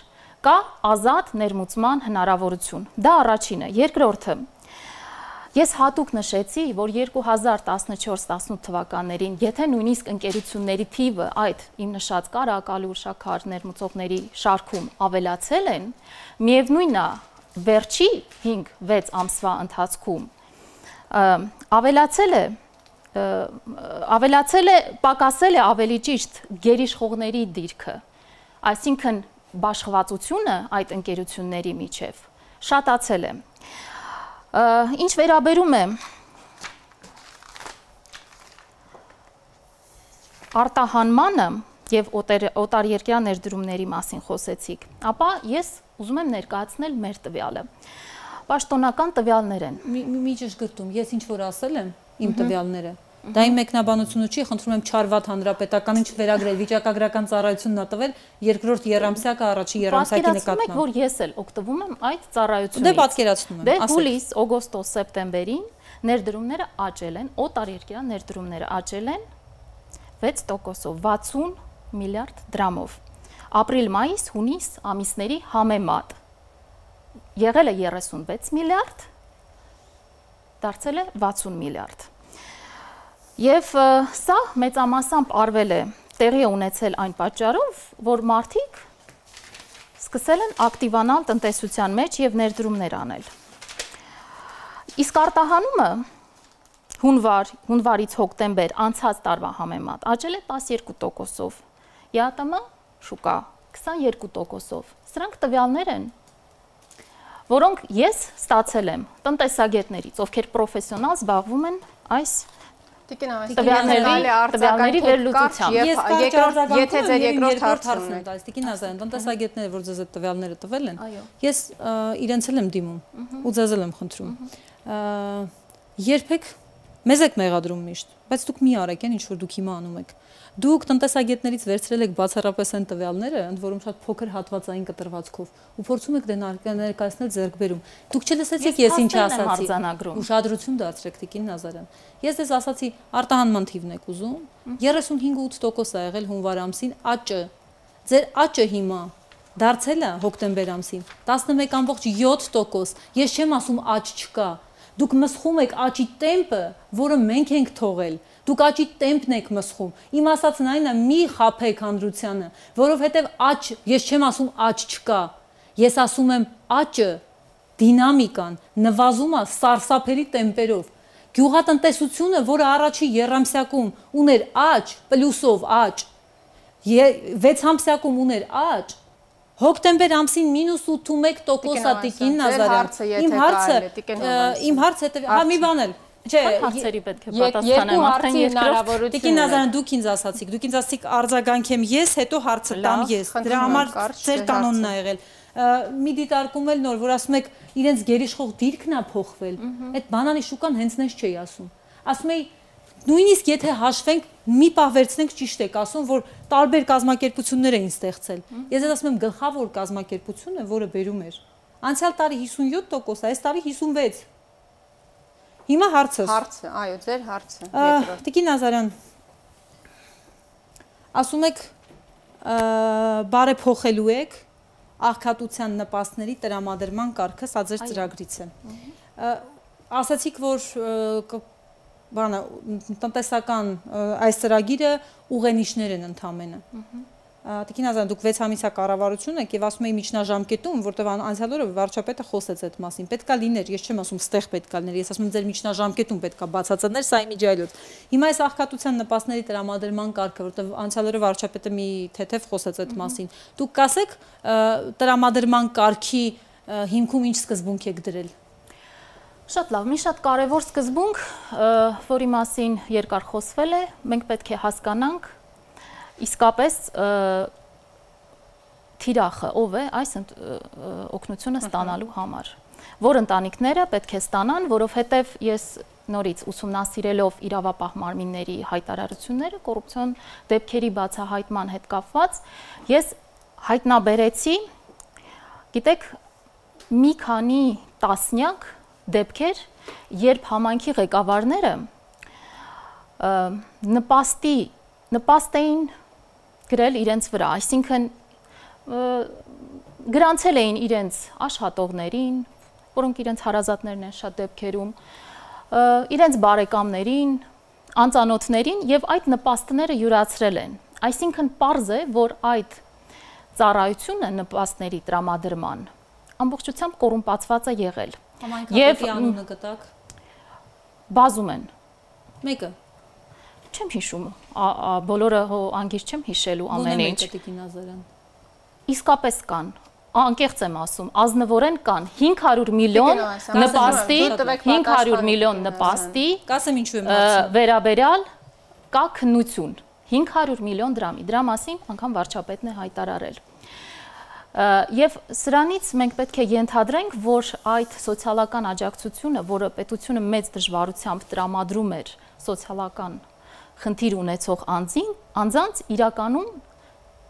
կա ազատ ներմուծման հնարավորություն։ Դա առաջինը, երկրորդը։ Ես հատուկ նշեցի, որ երկու հազար տասնչորս տասնութ թվականներին, եթե նույնիսկ ընկերությունների թիվը այդ իմ նշած կարակալուր, շաքար ներմուծողների շարքում ավելացել են, միևնույնն է, վերջի հինգ վեց ամսվա ընթացքում ավելացել է ավելացել է, պակասել է ավելի ճիշտ գերիշխողների դիրքը, այսինքն բաշխվածությունը այդ ընկերությունների միջև շատացել է։ Ինչ վերաբերում է արտահանմանը եւ օտարերկրյա ներդրումների մասին խոսեցիք, ապա ես ուզում եմ ներկայացնել մեր տվյալը։ Պաշտոնական տվյալներ են։ Մի ճշգրտում, ես ինչ որ ասել եմ, իմ տվյալները, դա իմ մեկնաբանությունը չի, խնդրում եմ Չարվաթ հանրապետական ինչ վերագրել, վիճակագրական ծառայությունն ա տվել, երկրորդ եռամսյակը առաջի եռամսյակի նկատմամբ։ Պատկերացնում եք, որ ես էլ օգտվում եմ այդ ծառայությունից։ Դե պատկերացնում եմ։ Դե հուլիս, օգոստոս, սեպտեմբերին ներդրումները աճել են, օտարերկրյա ներդրումները աճել են վեց տոկոսով, վաթսուն միլիարդ դրամով։ Ապրիլ, մայիս, հունիս ամիսների համեմատ եղել է երեսունվեց միլիարդ, դարձել է վաթսուն միլիարդ։ Եվ սա մեծամասամբ արվել է, տեղի է ունեցել այն պատճառով, որ մարդիկ սկսել են ակտիվանալ տնտեսության մեջ եւ ներդրումներ անել։ Իսկ արտահանումը հունվար, հունվարից հոկտեմբեր անցած տարվա համեմատ աճել է տասներկու տոկոսով, ԵԱՏՄ շուկա քսաներկու տոկոսով։ Սրանք տվյալներ են, որոնք ես ստացել եմ տնտեսագետներից, ովքեր պրոֆեսիոնալ զբաղվում են այս տվյալների վերլուծությամբ։ Եթե ձեր երկրորդ հարցն է տալիս, Տիկին Նազարյան, տնտեսագետները, որ ձեզ այդ տվյալները տվել են, ես իրենց էլ եմ դիմում ու ձեզ էլ եմ խնդրում։ Երբեք մեզ եք մեղադրում միշտ, բայց դուք մի արեք այն ինչ որ դուք հիմա անում եք։ Դուք տնտեսագետներից վերցրել եք բացառապես այն տվյալները, ընդ որում շատ փոքր հատվածային կտրվածքով, ու փորձում եք դե ներկայացնել ձեռքբերում։ Դուք չլսեցիք ես ինչ ասացի։ Ուշադրություն դարձրեք, Տիկին Նազարյան։ Ես դες ասացի, արտահանման թիվն եք ուզում, երեսունհինգ ութ տոկոս է եղել հունվար ամսին աճը։ Ձեր աճը հիմա դարձել է հոկտեմբեր ամսին տասնմեկ ամբողջ յոթ տոկոս։ Ես չեմ ասում աճ չկա։ Դուք մսխում եք աճի տեմպը, որը մենք ենք թողել։ Դուք աճի տեմպն եք մսխում։ Իմ ասածն այն է, մի խաբեք հանրությանը, որովհետև աճ, ես չեմ ասում աճ չկա։ Ես ասում եմ աճը, դինամիկան նվազում է սարսափելի տեմպերով։ Գյուղատնտեսությունը, որը առաջի եռամսյակում ուներ աճ, պլյուսով աճ, վեց ամսյակում ուներ աճ, հոկտեմբեր ամսին մինուս ութ տոկոս է, Տիկին Նազարյան։ Իմ հարցը, իմ հարցը, հա մի բան էլ, չէ, հարցերի պետք է պատասխանեմ, արդեն երկրորդ։ Տիկին Նազարյան, դուք ինձ ասացիք, դուք ինձ ասացիք արձագանքեմ ես, հետո հարցը տամ ես։ Դրա համար ձեր կանոնն է եղել։ Մի դիտարկում էլ նոր, որ ասում եք իրենց գերիշխող դիրքն է փոխվել։ Այդ բանանի շուկան հենց նենց չի ասում։ Ասում էի նույնիսկ եթե հաշվենք, մի պահ վերցնենք, ճիշտ եք ասում, որ տարբեր կազմակերպություններ էին ստեղծել։ Ես էլ ասում եմ գլխավոր կազմակերպությունը, որը բերում էր։ Անցյալ տարի հիսունյոթ տոկոս, այս տարի հիսունվեց։ Հիմա հարցը։ Հարցը, այո, ձեր հարցը։ Երկրորդ։ Տիկին Նազարյան, ասում եք բարեփոխելու եք աղքատության նպաստների տրամադրման կարգը, սա ձեր ծրագրից է։ Ասացիք, որ բանը տնտեսական այս ծրագիրը ուղենիշներ են ընդամենը։ Տիկին Ազարյան, դուք վեց ամիսյա կառավարություն եք եւ ասում եք միջնաժամկետում, որտեղ անցյալ օրը վարչապետը խոսեց այդ մասին։ Պետքա լիներ, ես չեմ ասում ստեղ պետքա լիներ, ես ասում եմ ձեր միջնաժամկետում պետքա բացածներ, սա իմիջայլոց։ Հիմա այս աղքատության նպաստների տրամադրման կարգը, որտեղ անցյալ օրը վարչապետը մի թեթև խոսեց այդ մասին։ Դուք կասեք տրամադրման կարգի հիմքում ինչ սկզբունք եք դրել։ Շատ լավ, մի շատ կարևոր սկզբունք, որի մասին երկար խոսվել է, մենք պետք է հասկանանք իսկապես թիրախը ով է այս օգնությունը ստանալու համար, որ ընտանիքները պետք է ստանան, որովհետև ես նորից ուսումնասիրելով իրավապահ մարմինների հայտարարությունները կոռուպցիոն դեպքերի բացահայտման հետ կապված, ես հայտնաբերեցի, գիտեք, մի քանի տասնյակ դեպքեր, երբ համայնքի ղեկավարները նպաստի, նպաստ էին գրել իրենց վրա, այսինքն գրանցել էին իրենց աշխատողներին, որոնք իրենց հարազատներն են շատ դեպքերում, իրենց բարեկամներին, անծանոթներին եւ այդ նպաստները յուրացրել են։ Այսինքն պարզ է, որ այդ ծառայությունը նպաստների տրամադրման ամբողջությամբ կոռումպացված է եղել։ Եւ անունը գտակ բազում են։ Մեկը չեմ հիշում, բոլորը անգիր չեմ հիշելու ամեն ինչ։ Իսկապես կան, անկեղծ եմ ասում, ազնվորեն կան հինգ հարյուր միլիոն նպաստի, հինգ հարյուր միլիոն նպաստի վերաբերյալ կա քննություն, հինգ հարյուր միլիոն դրամի, դրա մասին անգամ վարչապետն է հայտարարել։ Եվ սրանից մենք պետք է ենթադրենք, որ այդ սոցիալական աջակցությունը, որը պետությունը մեծ դժվարությամբ տրամադրում էր սոցիալական խնդիր ունեցող անձին, անձանց իրականում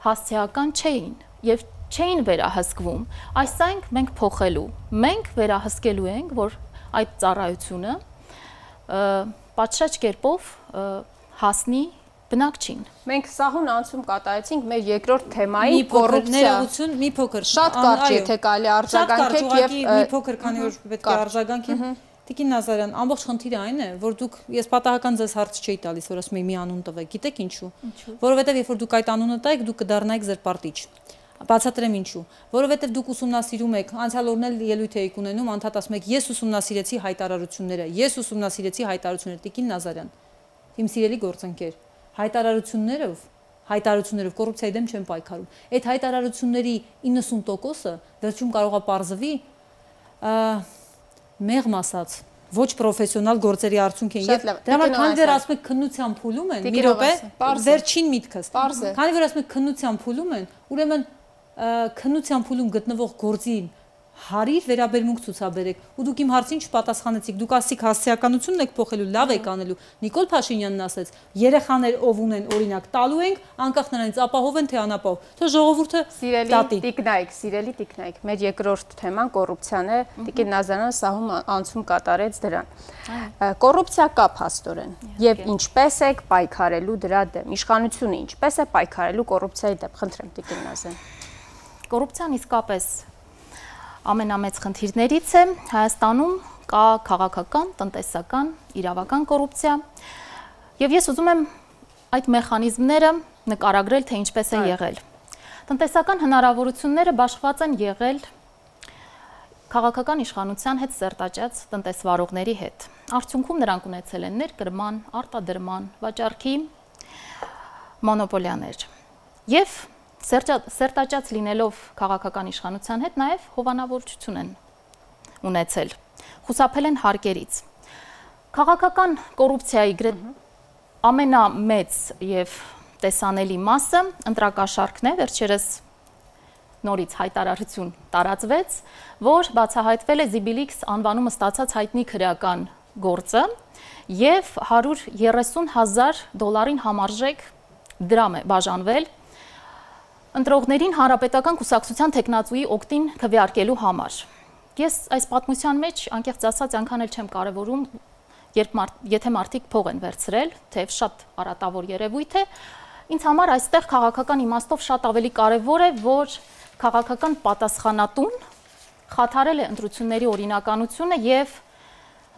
հասցեական չէին եւ չէին վերահսկվում։ Այսինքն մենք փոխելու, մենք վերահսկելու ենք, որ այդ ծառայությունը պատշաճ կերպով հասնի բնակչին։ Մենք սահուն անցում կատարեցինք մեր երկրորդ թեմայի կոռուպցիա։ Մի փոքր, շատ կարճ եթե կարելի արձագանքեք եւ մի փոքր, քանի որ պետք է արձագանքենք։ Տիկին Նազարյան, ամբողջ խնդիրը այն է, որ դուք ես պատահական ձեզ հարց չէի տալիս, որ ասում եմ մի անուն տվեք, գիտեք ինչու։ Որովհետեւ երբ որ դուք այդ անունը տայեք, դուք կդառնայիք զրպարտիչ։ Բացատրեմ ինչու։ Որովհետև դուք ուսումնասիրում եք, անցյալ օրն էլ ելույթ եք ունենում, անդադ ասում եք, ես ուսումնասիրեցի հայտարարությունները, ես ուսումնասիրեցի հայտարարությունները, Տիկին Նազարյան, իմ սիրելի գործընկեր, հայտարարություններով, հայտարարություններով կոռուպցիայի դեմ չեն պայքարում։ Այդ հայտարարությունների իննսուն տոկոսը վերջում կարող է պարզվի մեղմ ասած, ոչ պրոֆեսիոնալ գործերի արդյունք են։ Եվ դրա համար քանի որ ասում եք քննության փուլում են, մի րոպե, վերջին միտքս։ Քանի որ ասում եք քննության փուլում են, ուրեմն քննության փուլում գտնվող գործին հարիր վերաբերմունք ցուցաբերեք ու դուք իմ հարցին չպատասխանեցիք, դուք ասիք հասցեականությունն եք փոխելու, լավ եք անելու։ Նիկոլ Փաշինյանն ասեց, երեխաներ ով ունեն օրինակ տալու ենք, անկախ նրանից ապահով են թե անապահով։ Թող ժողովուրդը սիրելի տիկնայք, սիրելի տիկնայք, մեր երկրորդ թեման կոռուպցիան է, Տիկին Նազարյանը սահում անցում կատարեց դրան։ Կոռուպցիա կա փաստորեն, եւ ինչպես եք պայքարելու դրա դեմ, իշխանությունը ինչպես է պայքարելու կոռուպցիայի դեմ, խնդրեմ Տիկին Նազարյան։ Կոռուպցիան իսկապես ամենամեծ խնդիրներից է, Հայաստանում կա քաղաքական, տնտեսական, իրավական կոռուպցիա եւ ես ուզում եմ այդ մեխանիզմները նկարագրել, թե ինչպես է եղել։ Տնտեսական հնարավորությունները բաշխված են եղել քաղաքական իշխանության հետ սերտաճած տնտեսվարողների հետ։ Արդյունքում նրանք ունեցել են ներկրման, արտադրման, վաճառքի մոնոպոլիաներ։ Եվ սերտաճած լինելով քաղաքական իշխանության հետ նաև հովանավորություն են ունեցել, խուսափել են հարկերից։ Քաղաքական կոռուպցիայի ամենամեծ եւ տեսանելի մասը ընտրակաշառքն է, վերջերս նորից հայտարարություն տարածվեց, որ բացահայտվել է Զիբիլիքս անվանումը ստացած հայտնի քրեական գործը եւ հարյուր երեսուն հազար դոլարին համարժեք դրամ է բաժանվել ընտրողներին հանրապետական կուսակցության տեխնացուի օգտին քվեարկելու համար։ Ես այս պատմության մեջ անկեղծ ասած անգամ էլ չեմ կարևորում, երբ եթե մարդիկ փող են վերցրել, թեև շատ արատավոր երևույթ է, ինձ համար այստեղ քաղաքական իմաստով շատ ավելի կարևոր է, որ քաղաքական պատասխանատուն խաթարել է ընտրությունների օրինականությունը եւ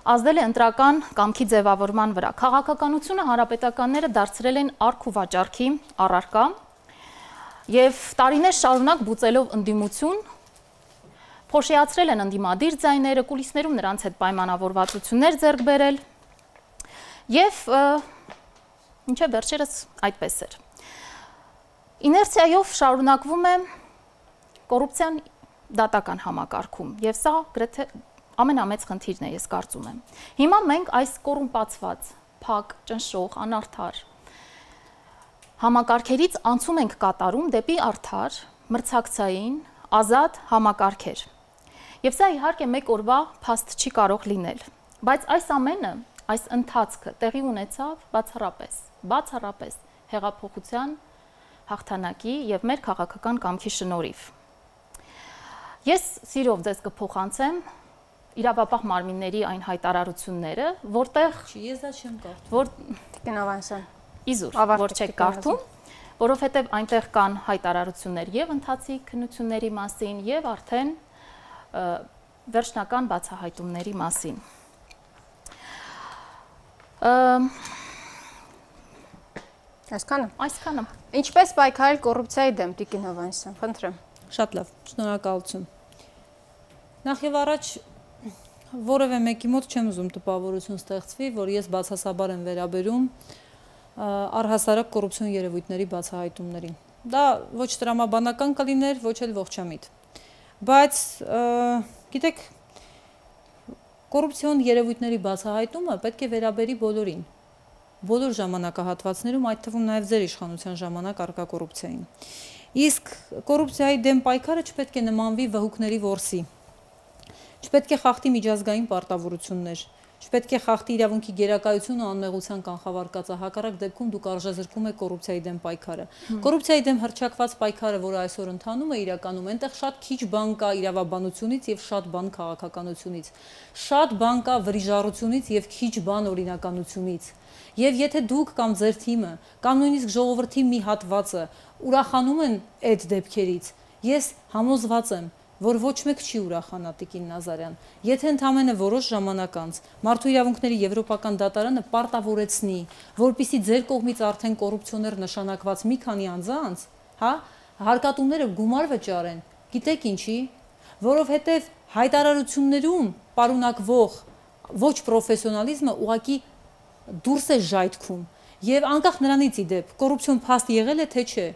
ազդել է ընտրական կամքի ձևավորման վրա։ Քաղաքականությունը հանրապետականները դարձրել են արք ու վաճառքի առարկա Եվ տարիներ շարունակ բուծելով ընդդիմություն, փոշիացրել են ընդդիմադիր ձայները, կուլիսներում նրանց հետ պայմանավորվածություններ ձեռք բերել եւ մինչեւ վերջերս այդպես էր։ Իներցիայով շարունակվում է կոռուպցիան դատական համակարգում եւ սա գրեթե ամենամեծ խնդիրն է, ես կարծում եմ։ Հիմա մենք այս կոռումպացված, փակ, ճնշող, անարդար համակարգերից անցում ենք կատարում դեպի արդար, մրցակցային, ազատ համակարգեր։ Եվ սա իհարկե մեկ օրվա փաստ չի կարող լինել, բայց այս ամենը, այս ընթացքը տեղի ունեցավ բացառապես, բացառապես հեղափոխության հաղթանակի եւ մեր քաղաքական կամքի շնորհիվ։ Ես սիրով ձեզ կփոխանցեմ իրավապահ մարմինների այն հայտարարությունները, որտեղ Չի, ես դա չեմ կարդում։ որ Տիկին Ավանեսյան, իզուր, որ չեք կարդում, որովհետև այնտեղ կան հայտարարություններ եւ ընթացիկ քննությունների մասին եւ արդեն վերջնական բացահայտումների մասին։ Այսքանը։ Այսքանը։ Ինչպես պայքարել կոռուպցիայի դեմ, Տիկին Ավանեսյան, խնդրեմ։ Շատ լավ, շնորհակալություն։ Նախ եւ առաջ որևէ մեկի մոտ չեմ ուզում տպավորություն ստեղծվի, որ ես բացասաբար եմ վերաբերում առհասարակ կոռուպցիոն երևույթների բացահայտումներին։ Դա ոչ տրամաբանական կլիներ, ոչ էլ ողջամիտ։ Բայց գիտեք, կոռուպցիոն երևույթների բացահայտումը պետք է վերաբերի բոլորին։ Բոլոր ժամանակահատվածներում, այդ թվում նաև ձեր իշխանության ժամանակ առկա կոռուպցիային։ Իսկ կոռուպցիայի դեմ պայքարը չպետք է նմանվի վհուկների որսի։ Չպետք է խախտի միջազգային պարտավորություններ, չպետք է խախտի իրավունքի գերակայությունը ու անմեղության կանխավարկածը, հակառակ դեպքում դուք արժեզրկում եք կոռուպցիայի դեմ պայքարը։ Կոռուպցիայի դեմ հռչակված պայքարը, որը այսօր ընթանում է իրականում, այնտեղ շատ քիչ բան կա իրավաբանությունից եւ շատ բան քաղաքականությունից։ Շատ բան կա վրիժառությունից եւ քիչ բան օրինականությունից։ Եվ եթե դուք կամ ձեր թիմը, կամ նույնիսկ ժողովրդի մի հատվածը ուրախանում են այդ դեպքերից, ես համոզված եմ, որ ոչ մեկ չի ուրախանա Տիկին Նազարյան, եթե ընդամենը որոշ ժամանակ անց Մարդու իրավունքների եվրոպական դատարանը պարտավորեցնի, որպեսզի ձեր կողմից արդեն կոռուպցիոներ նշանակված մի քանի անձանց, հա, հարկատուները գումար վճարեն, գիտեք ինչի, որովհետև հայտարարություններում պարունակվող ոչ պրոֆեսիոնալիզմը ուղղակի դուրս է ժայթքում եւ անկախ նրանից ի դեպ կոռուպցիոն փաստ եղել է թե չէ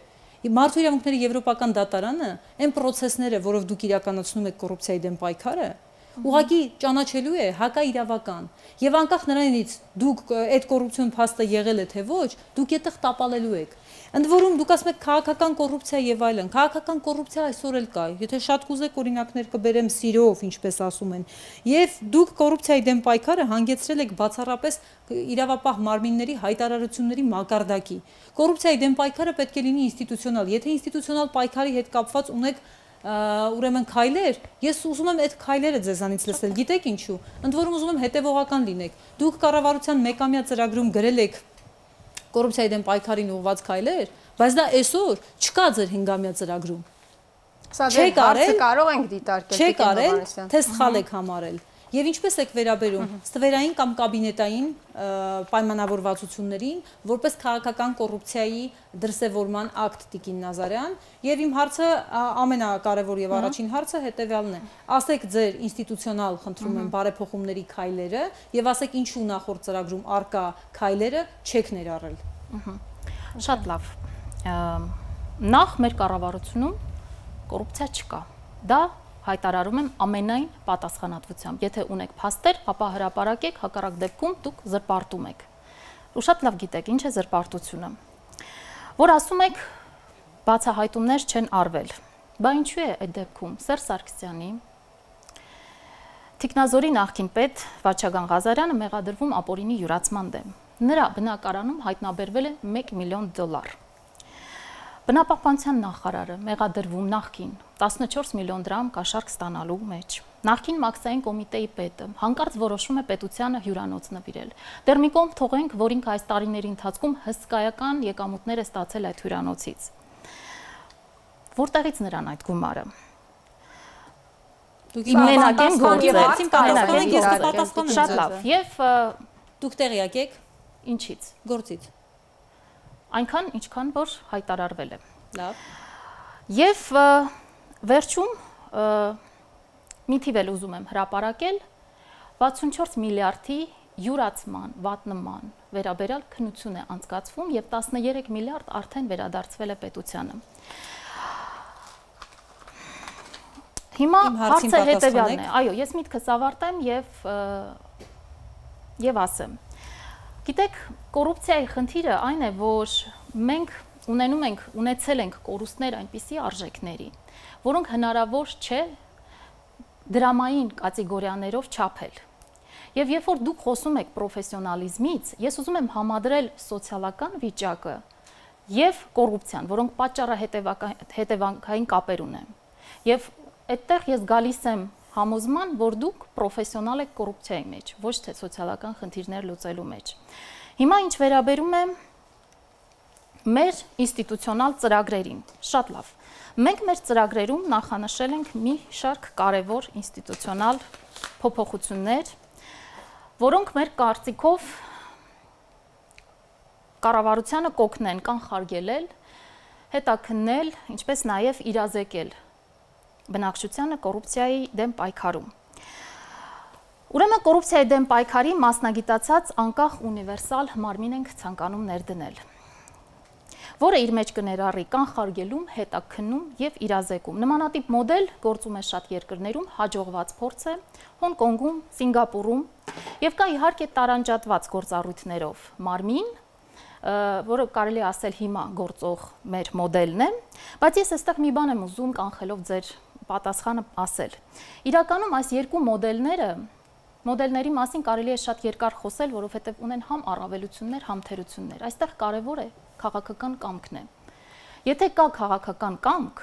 Մարդու իրավունքների եվրոպական դատարանը այն process-ները, որով դուք իրականացնում եք կոռուպցիայի դեմ պայքարը, ուղղակի ճանաչելու է հակաիրավական եւ անկախ նրանից դուք այդ կոռուպցիոն փաստը եղել է թե ոչ, դուք այդտեղ տապալելու եք։ Ընդ որում դուք ասում եք քաղաքական կոռուպցիա եւ այլն։ Քաղաքական կոռուպցիա այսօր էլ կա։ Եթե շատ կուզեք օրինակներ կբերեմ սիրով, ինչպես ասում են։ Եվ դուք կոռուպցիայի դեմ պայքարը հանգեցրել եք բացառապես իրավապահ մարմինների հայտարարությունների մակարդակի։ Կոռուպցիայի դեմ պայքարը պետք է լինի ինստիտուցիոնալ։ Եթե ինստիտուցիոնալ պայքարի հետ կապված ունեք ուրեմն քայլեր, ես ուզում եմ այդ քայլերը ձեզանից լսել։ Գիտեք ինչու։ Ընդ որում ուզում եմ հետևողական լինեք։ Դուք կառավարության մեկամյա ծրագրում գրել եք կոռուպցիայի դեմ պայքարին ուղղված քայլեր, բայց դա այսօր չկա ձեր հինգամյա ծրագրում։ Սա դեռ հարցը կարող ենք դիտարկել, Չեք արել, թե սխալ եք համարել։ Եվ ինչպես եք վերաբերում ստվերային կամ կաբինետային պայմանավորվածություններին, որպես քաղաքական կոռուպցիայի դրսևորման ակտ Տիկին Նազարյան, եւ իմ հարցը ամենակարևոր եւ առաջին հարցը հետեւյալն է։ Ասեք ձեր ինստիտուցիոնալ, խնդրում եմ, բարեփոխումների քայլերը եւ ասեք ինչու նախորդ ծրագրում արկա քայլերը չեք ներառել։ Շատ լավ։ Նախ մեր կառավարությունում կոռուպցիա չկա։ Դա հայտարարում եմ ամենայն պատասխանատվությամբ։ Եթե ունեք փաստեր, ապա հրապարակեք, հակառակ դեպքում դուք զրպարտում եք։ Ու շատ լավ գիտեք ինչ է զրպարտությունը։ Որ ասում եք բացահայտումներ չեն արվել։ Բա ինչու է այդ դեպքում Սերժ Սարգսյանի Տիկնազորի նախկին պետ Վաչագան Ղազարյանը մեղադրվում ապօրինի յուրացման դեմ։ Նրա բնակարանում հայտնաբերվել է մեկ միլիոն դոլար։ Բնապահպանության նախարարը մեղադրվում նախկին տասնչորս միլիոն դրամ կաշառք ստանալու մեջ։ Նախկին մաքսային կոմիտեի պետը հանկարծ որոշում է պետությանը հյուրանոց նվիրել։ Դեռ մի կողմ թողենք, որ ինքը այս տարիների ընթացքում հսկայական եկամուտներ է ստացել այդ հյուրանոցից։ Որտեղից նրան այդ գումարը։ Դուք մենակ են գործել։ Շատ լավ։ Եվ դուք տեղյակ եք ինչից։ Գործից։ Այնքան, ինչքան որ հայտարարվել է։ Լավ։ Եվ վերջում մի թիվ էլ ուզում եմ հրապարակել վաթսունչորս միլիարդի յուրացման, վատնման վերաբերյալ քննություն է անցկացվում եւ տասներեք միլիարդ արդեն վերադարձվել է պետությանը։ Հիմա հարցը հետեւյալն է։ Այո, ես միտքս ավարտեմ եւ եւ ասեմ։ Գիտեք, կոռուպցիայի խնդիրը այն է, որ մենք ունենում ենք, ունեցել ենք կորուստներ այնպիսի արժեքների, որոնք հնարավոր չէ դրամային կատեգորիաներով չափել։ Եվ երբ որ դուք խոսում եք պրոֆեսիոնալիզմից, ես ուզում եմ համադրել սոցիալական վիճակը եւ կոռուպցիան, որոնք պատճառահետևանքային կապեր ունեն։ Եվ այդտեղ ես գալիս եմ համոզման, որ դուք պրոֆեսիոնալ եք կոռուպցիայի մեջ, ոչ թե սոցիալական խնդիրներ լուծելու մեջ։ Հիմա ինչ վերաբերում է մեր ինստիտուցիոնալ ծրագրերին, շատ լավ։ Մենք մեր ծրագրերում նախանշել ենք մի շարք կարևոր ինստիտուցիոնալ փոփոխություններ, որոնք մեր կարծիքով կառավարությանը կօգնեն կանխարգելել, հետաքննել, ինչպես նաև իրազեկել բնակչությանը կոռուպցիայի դեմ պայքարում։ Ուրեմն կոռուպցիայի դեմ պայքարի մասնագիտացած անկախ ունիվերսալ մարմին ենք ցանկանում ներդնել, որը իր մեջ կներառի կանխարգելում, հետաքննում եւ իրազեկում։ Նմանատիպ մոդել գործում է շատ երկրներում, հաջողված փորձ է Հոնկոնգում, Սինգապուրում եւ կա իհարկե տարանջատված գործառույթներով մարմին, որը կարելի է ասել հիմա գործող մեր մոդելն է, բայց ես այստեղ մի բան եմ ուզում կանխելով ձեր պատասխանը ասել։ Իրականում այս երկու մոդելները Մոդելների մասին կարելի է շատ երկար խոսել, որովհետև ունեն համ առավելություններ, համ թերություններ։ Այստեղ կարևոր է քաղաքական կամքն է։ Եթե կա քաղաքական կամք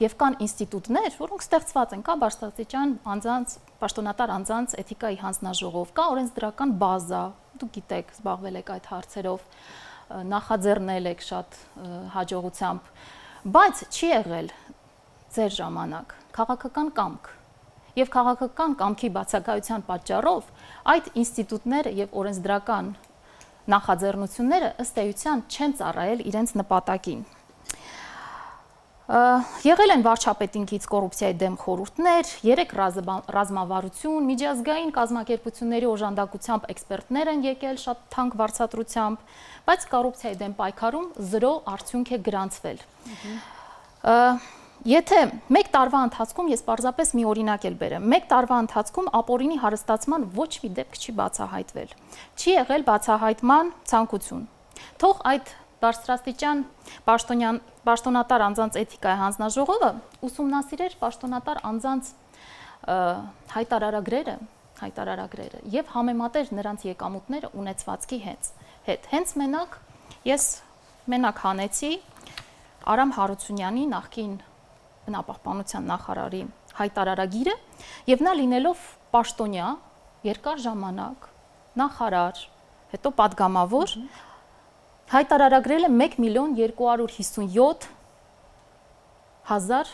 եւ կան ինստիտուտներ, որոնք ստեղծված են, կա բարձրաստիճան անձանց, պաշտոնատար անձանց էթիկայի հանձնաժողով, կա օրենսդրական բազա, դուք գիտեք, զբաղվել եք այդ հարցերով, նախաձեռնել եք շատ հաջողությամբ, բայց չի եղել ձեր ժամանակ քաղաքական կամք։ Եվ քաղաքական կամքի բացակայության պատճառով այդ ինստիտուտները եւ օրենսդրական նախաձեռնությունները ըստ էության չեն ծառայել իրենց նպատակին։ Եղել են վարչապետինքից կոռուպցիայի դեմ խորհուրդներ, երեք ռազմավարություն, միջազգային կազմակերպությունների օժանդակությամբ էքսպերտներ են եկել շատ թանկ վարձատրությամբ, բայց կոռուպցիայի դեմ պայքարում զրո արդյունք է գրանցվել։ Եթե մեկ տարվա ընթացքում, ես պարզապես մի օրինակ էլ բերեմ, մեկ տարվա ընթացքում ապօրինի հարստացման ոչ մի դեպք չի բացահայտվել, չի եղել բացահայտման ցանկություն։ Թող այդ բարձրաստիճան պաշտոնատար անձանց էթիկայի հանձնաժողովը ուսումնասիրեր պաշտոնատար անձանց հայտարարագրերը, հայտարարագրերը եւ համեմատեր նրանց եկամուտները ունեցվածքի հետ։ Հենց մենակ ես մենակ հանեցի Արամ Հարությունյանի նախկին բնապահպանության նախարարի հայտարարագիրը եւ նա լինելով պաշտոնյա երկար ժամանակ նախարար, հետո պատգամավոր հայտարարագրել է մեկ միլիոն երկու հարյուր հիսունյոթ հազար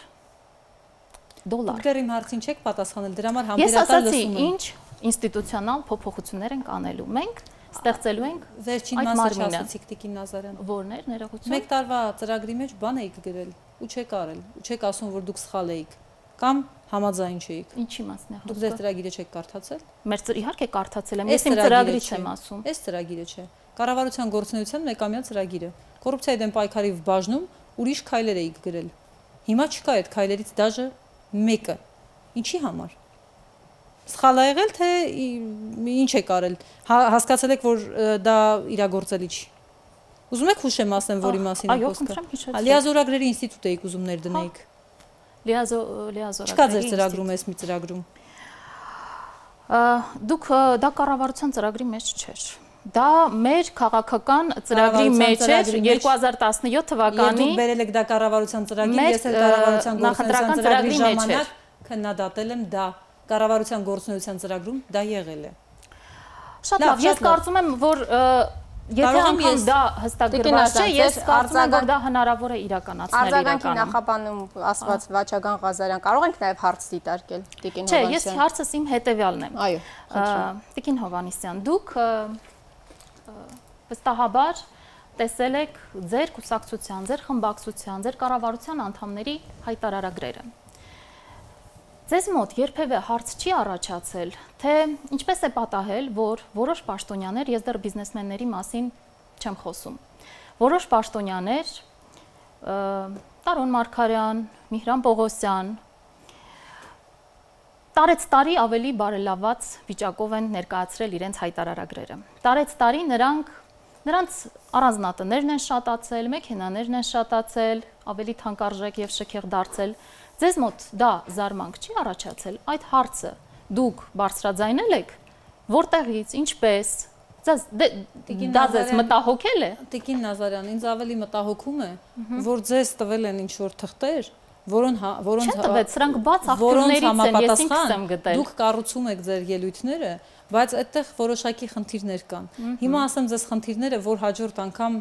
դոլար։ Դուք դեռ իմ հարցին չեք պատասխանել, դրա համար համբերատար լսում եմ։ Ես ասացի, ինչ ինստիտուցիոնալ փոփոխություններ ենք անելու մենք, ստեղծելու ենք վերջին մասը չասացիք Տիկին Նազարյան։ Որներ ներողություն։ Մեկ տարվա ծրագրի մեջ բան էիք գրել ու չեք արել, ու չեք ասում, որ դուք սխալ էիք կամ համաձայն չէիք։ Ինչի մասն է խոսքը։ Դուք ձեր ծրագիրը չեք կարդացել։ Մեր իհարկե կարդացել եմ, ես իմ ծրագրից եմ ասում։ Այս ծրագիրը չէ։ Կառավարության գործունեության մեկամյա ծրագիրը։ Կոռուպցիայի դեմ պայքարի բաժնում ուրիշ քայլեր էիք գրել։ Հիմա չկա այդ քայլերից դաժե մեկը։ Ինչի համար։ Սխալ ա եղել, թե ինչ եք արել։ Հասկացել եք, որ դա իրագործելի չի։ Ուզում եք հուշեմ ասեմ, որի մասին է խոսքը։ Լիազորագրերի ինստիտուտ էիք ուզում ներդնեիք։ Լիազորագրերի։ Չկա ձեր ծրագրում, էս մի ծրագրում։ Դուք դա կառավարության ծրագրի մեջ չէր։ Դա մեր քաղաքական ծրագրի մեջ էր երկու հազար տասնյոթ թվականի։ Եվ դուք բերել եք դա կառավարության ծրագրին, ես էլ կառավարության գործունեության ծրագրի ժամանակ քննադատել եմ դա։ Կառավարության գործունեության ծրագրում դա եղել է։ Շատ լավ, ես կարծում եմ, որ եթե անգամ դա հստակագրված չէ, ես կարծում եմ, որ դա հնարավոր է իրականացնել իրականում։ Արձագանքի նախապանում ասված Վաչագան Ղազարյան, կարող ենք նաև հարց դիտարկել Տիկին Հովհաննիսյան։ Չէ, ես հարցս իմ հետևյալն է։ Այո, Տիկին Հովհաննիսյան, դուք վստահաբար տեսել եք ձեր կուսակցության, ձեր խմբակցության, ձեր կառավարության անդամների հայտարարագրերը։ Ձեզ մոտ երբևէ հարց չի առաջացել, թե ինչպես է պատահել, որ որոշ պաշտոնյաներ, ես դեռ բիզնեսմենների մասին չեմ խոսում, որոշ պաշտոնյաներ, Տարոն Մարգարյան, Միհրան Պողոսյան, տարեց տարի ավելի բարելաված վիճակով են ներկայացրել իրենց հայտարարագրերը։ Տարեց տարի նրանք, նրանց առանձնատներն են շատացել, մեքենաներն են շատացել, ավելի թանկարժեք եւ շքեղ դարձել։ Ձեզ մոտ դա զարմանք չի առաջացել, այդ հարցը դուք բարձրաձայնել եք, որտեղից, ինչպես, դա ձեզ մտահոգել է։ Տիկին Նազարյան, ինձ ավելի մտահոգում է, որ ձեզ տվել են ինչ-որ թղթեր, որոնց չտվեց, սրանք բաց աղբյուրներից են, ես ինքս եմ գտել։ Դուք կառուցում եք ձեր ելույթները, բայց այդտեղ որոշակի խնդիրներ կան։ Հիմա ասեմ ձեզ խնդիրները, որ հաջորդ անգամ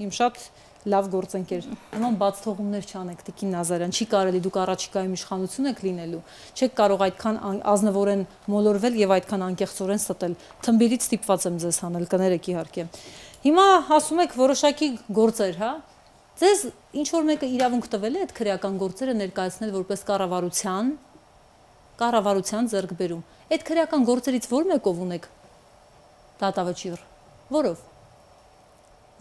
իմ շատ լավ գործընկեր, նման բաց թողումներ չանեք, Տիկին Նազարյան, չի կարելի, դուք առաջիկայում իշխանություն եք լինելու, չեք կարող այդքան ազնվորեն մոլորվել եւ այդքան անկեղծորեն ստել։ Թմբիրից ստիպված եմ ձեզ հանել, կներեք իհարկե։ Հիմա ասում եք որոշակի գործեր, հա։ Ձեզ ինչ որ մեկը իրավունք տվել է այդ քրեական գործերը ներկայացնել որպես կառավարության, կառավարության ձեռքբերում։ Այդ քրեական գործերից ո՞ր մեկով ունեք դատավճիռ։ Որով։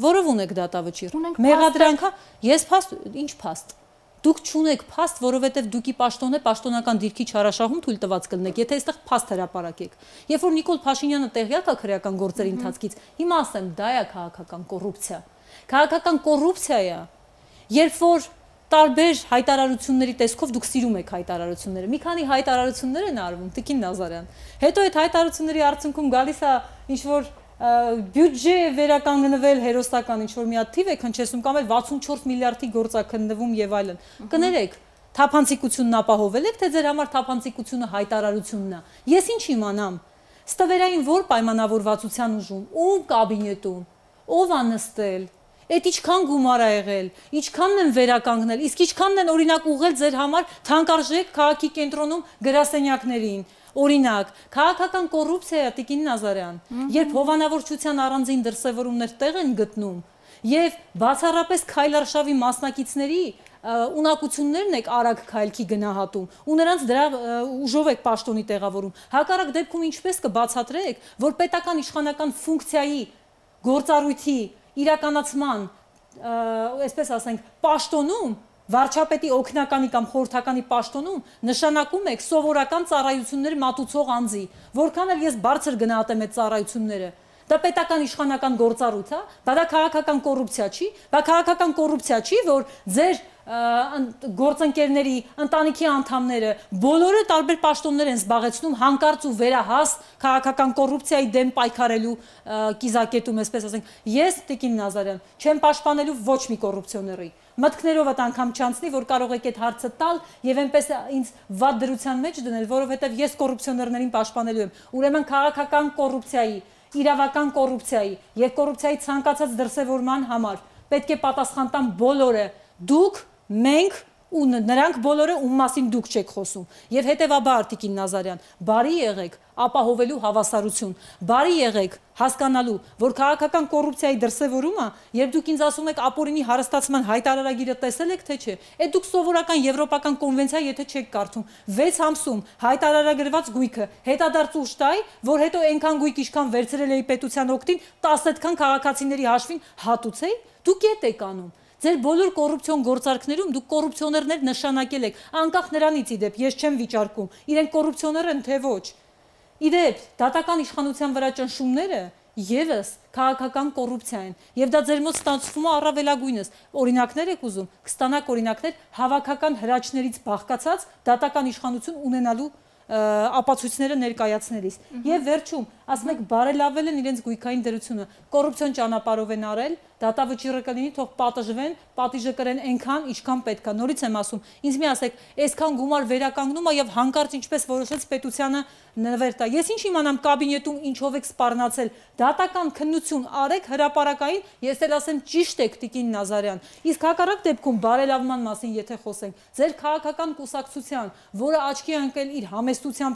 Որով ունեք դատավճիռ։ Մեղադրանքա, ես փաստ, ինչ փաստ։ Դուք չունեք փաստ, որովհետև դուքի պաշտոնը պաշտոնական դիրքի չարաշահում թույլ տված կլինեք, եթե այստեղ փաստ հրապարակեք։ Երբ որ Նիկոլ Փաշինյանը տեղյակ է քրեական գործերի ընթացքից, հիմա ասեմ, դա է քաղաքական կոռուպցիա։ Քաղաքական կոռուպցիա է, երբ որ տարբեր հայտարարությունների տեսքով դուք սիրում եք հայտարարությունները։ Մի քանի հայտարարություններ են արվում, Տիկին Նազարյան։ Հետո այդ հայտարարությունների արդյունքում գալիս է ինչ-որ բյուջե վերականգնվել հերոսական ինչ-որ մի հատ թիվ է քնչեցնում կամ էլ վաթսունչորս միլիարդի գործ է քննվում եւ այլն։ Կներեք, թափանցիկությունն ապահովել եք, թե ձեր համար թափանցիկությունը հայտարարությունն է։ Ես ինչ իմանամ։ Ստվերային որ պայմանավորվածության ուժում, ում կաբինետում, ով է նստել, այդ ինչքան գումար է եղել, ինչքանն են վերականգնել, իսկ ինչքանն են օրինակ ուղղել ձեր համար թանկարժեք քաղաքի կենտրոնում գրասենյակներին։ Օրինակ, քաղաքական կոռուպցիա է, Տիկին Նազարյան, երբ հովանավորչության առանձին դրսևորումներ տեղ են գտնում եւ բացառապես քայլարշավի մասնակիցների ունակություններն եք արագ քայլքի գնահատում ու նրանց դրա ուժով եք պաշտոնի տեղավորում։ Հակառակ դեպքում ինչպես կբացատրեք, որ պետական իշխանական ֆունկցիայի գործառույթի իրականացման, այսպես ասենք, պաշտոնում, վարչապետի օգնականի կամ խորհրդականի պաշտոնում նշանակում եք սովորական ծառայություններ մատուցող անձի, որքան էլ ես բարձր գնահատեմ այդ ծառայությունները, դա պետական իշխանական գործառույթ է, դա դա քաղաքական կոռուպցիա չի, դա քաղաքական կոռուպցիա չի, որ ձեր գործընկերների, ընտանիքի անդամները բոլորը տարբեր պաշտոններ են զբաղեցնում հանկարծ ու վերահաս քաղաքական կոռուպցիայի դեմ պայքարելու կիզակետում, այսպես ասենք։ Ես, Տիկին Նազարյան, չեմ պաշտպանելու ոչ մի կոռուպցիոների։ Մտքներով այդ անգամ չանցնի, որ կարող եք այդ հարցը տալ եւ այնպես ինձ վատ դրության մեջ դնել, որովհետեւ ես կոռուպցիոներներին պաշտպանելու եմ։ Ուրեմն քաղաքական կոռուպցիայի, իրավական կոռուպցիայի եւ կոռուպցիայի ցանկացած դրսեւորման համար պետք է պատասխան տան բոլորը։ Դուք, մենք ու նրանք բոլորը, ում մասին դուք չեք խոսում։ Եվ հետևաբար, Տիկին Նազարյան, բարի եղեք ապահովելու հավասարություն, բարի եղեք հասկանալու, որ քաղաքական կոռուպցիայի դրսևորումը, երբ դուք ինձ ասում եք ապօրինի հարստացման հայտարարագիրը տեսել եք, թե չէ, այդ դուք սովորական եվրոպական կոնվենցիա եթե չեք կարդում, վեց ամսում հայտարարագրված գույքը հետադարձ ուժ տայ, որ հետո այնքան գույք ինչքան վերցրել էի պետության օգտին, տասը այդքան քաղաքացիների հաշվին հատուցեի, դուք ետ եք անում։ Ձեր բոլոր կոռուպցիոն գործարքներում դուք կոռուպցիոներներ նշանակել եք, անկախ նրանից իդեպ, ես չեմ վիճարկում, իրենք կոռուպցիոներ են, թե ոչ։ Իդեպ, դատական իշխանության վրա ճնշումները եւս քաղաքական կոռուպցիա են, եւ դա ձեր մոտ ստացվում է առավելագույնս։ Օրինակներ եք ուզում, կստանաք օրինակներ հավաքական հրաչներից բաղկացած դատական իշխանություն ունենալու ապացույցները ներկայացնելիս։ Եվ վերջում, ասում եք, բարելավել են իրենց գույքային դրությունը, կոռուպցիոն ճանապարհով են արել, դատավճիռը կլինի, թող պատժվեն, պատիժը կրեն այնքան, ինչքան պետք է։ Նորից եմ ասում, ինձ մի ասեք, այսքան գումար վերականգնում է եւ հանկարծ ինչպես որոշեց պետությանը նվեր տա։ Ես ինչ իմանամ կաբինետում ինչով եք սպառնացել, դատական քննություն արեք հրապարակային, ես էլ ասեմ ճիշտ եք, Տիկին Նազարյան։ Իսկ հակառակ դեպքում բարելավման մասին եթե խոսենք, ձեր քաղաքական կուսակցության, որը աչքի ընկել իր համեստությամբ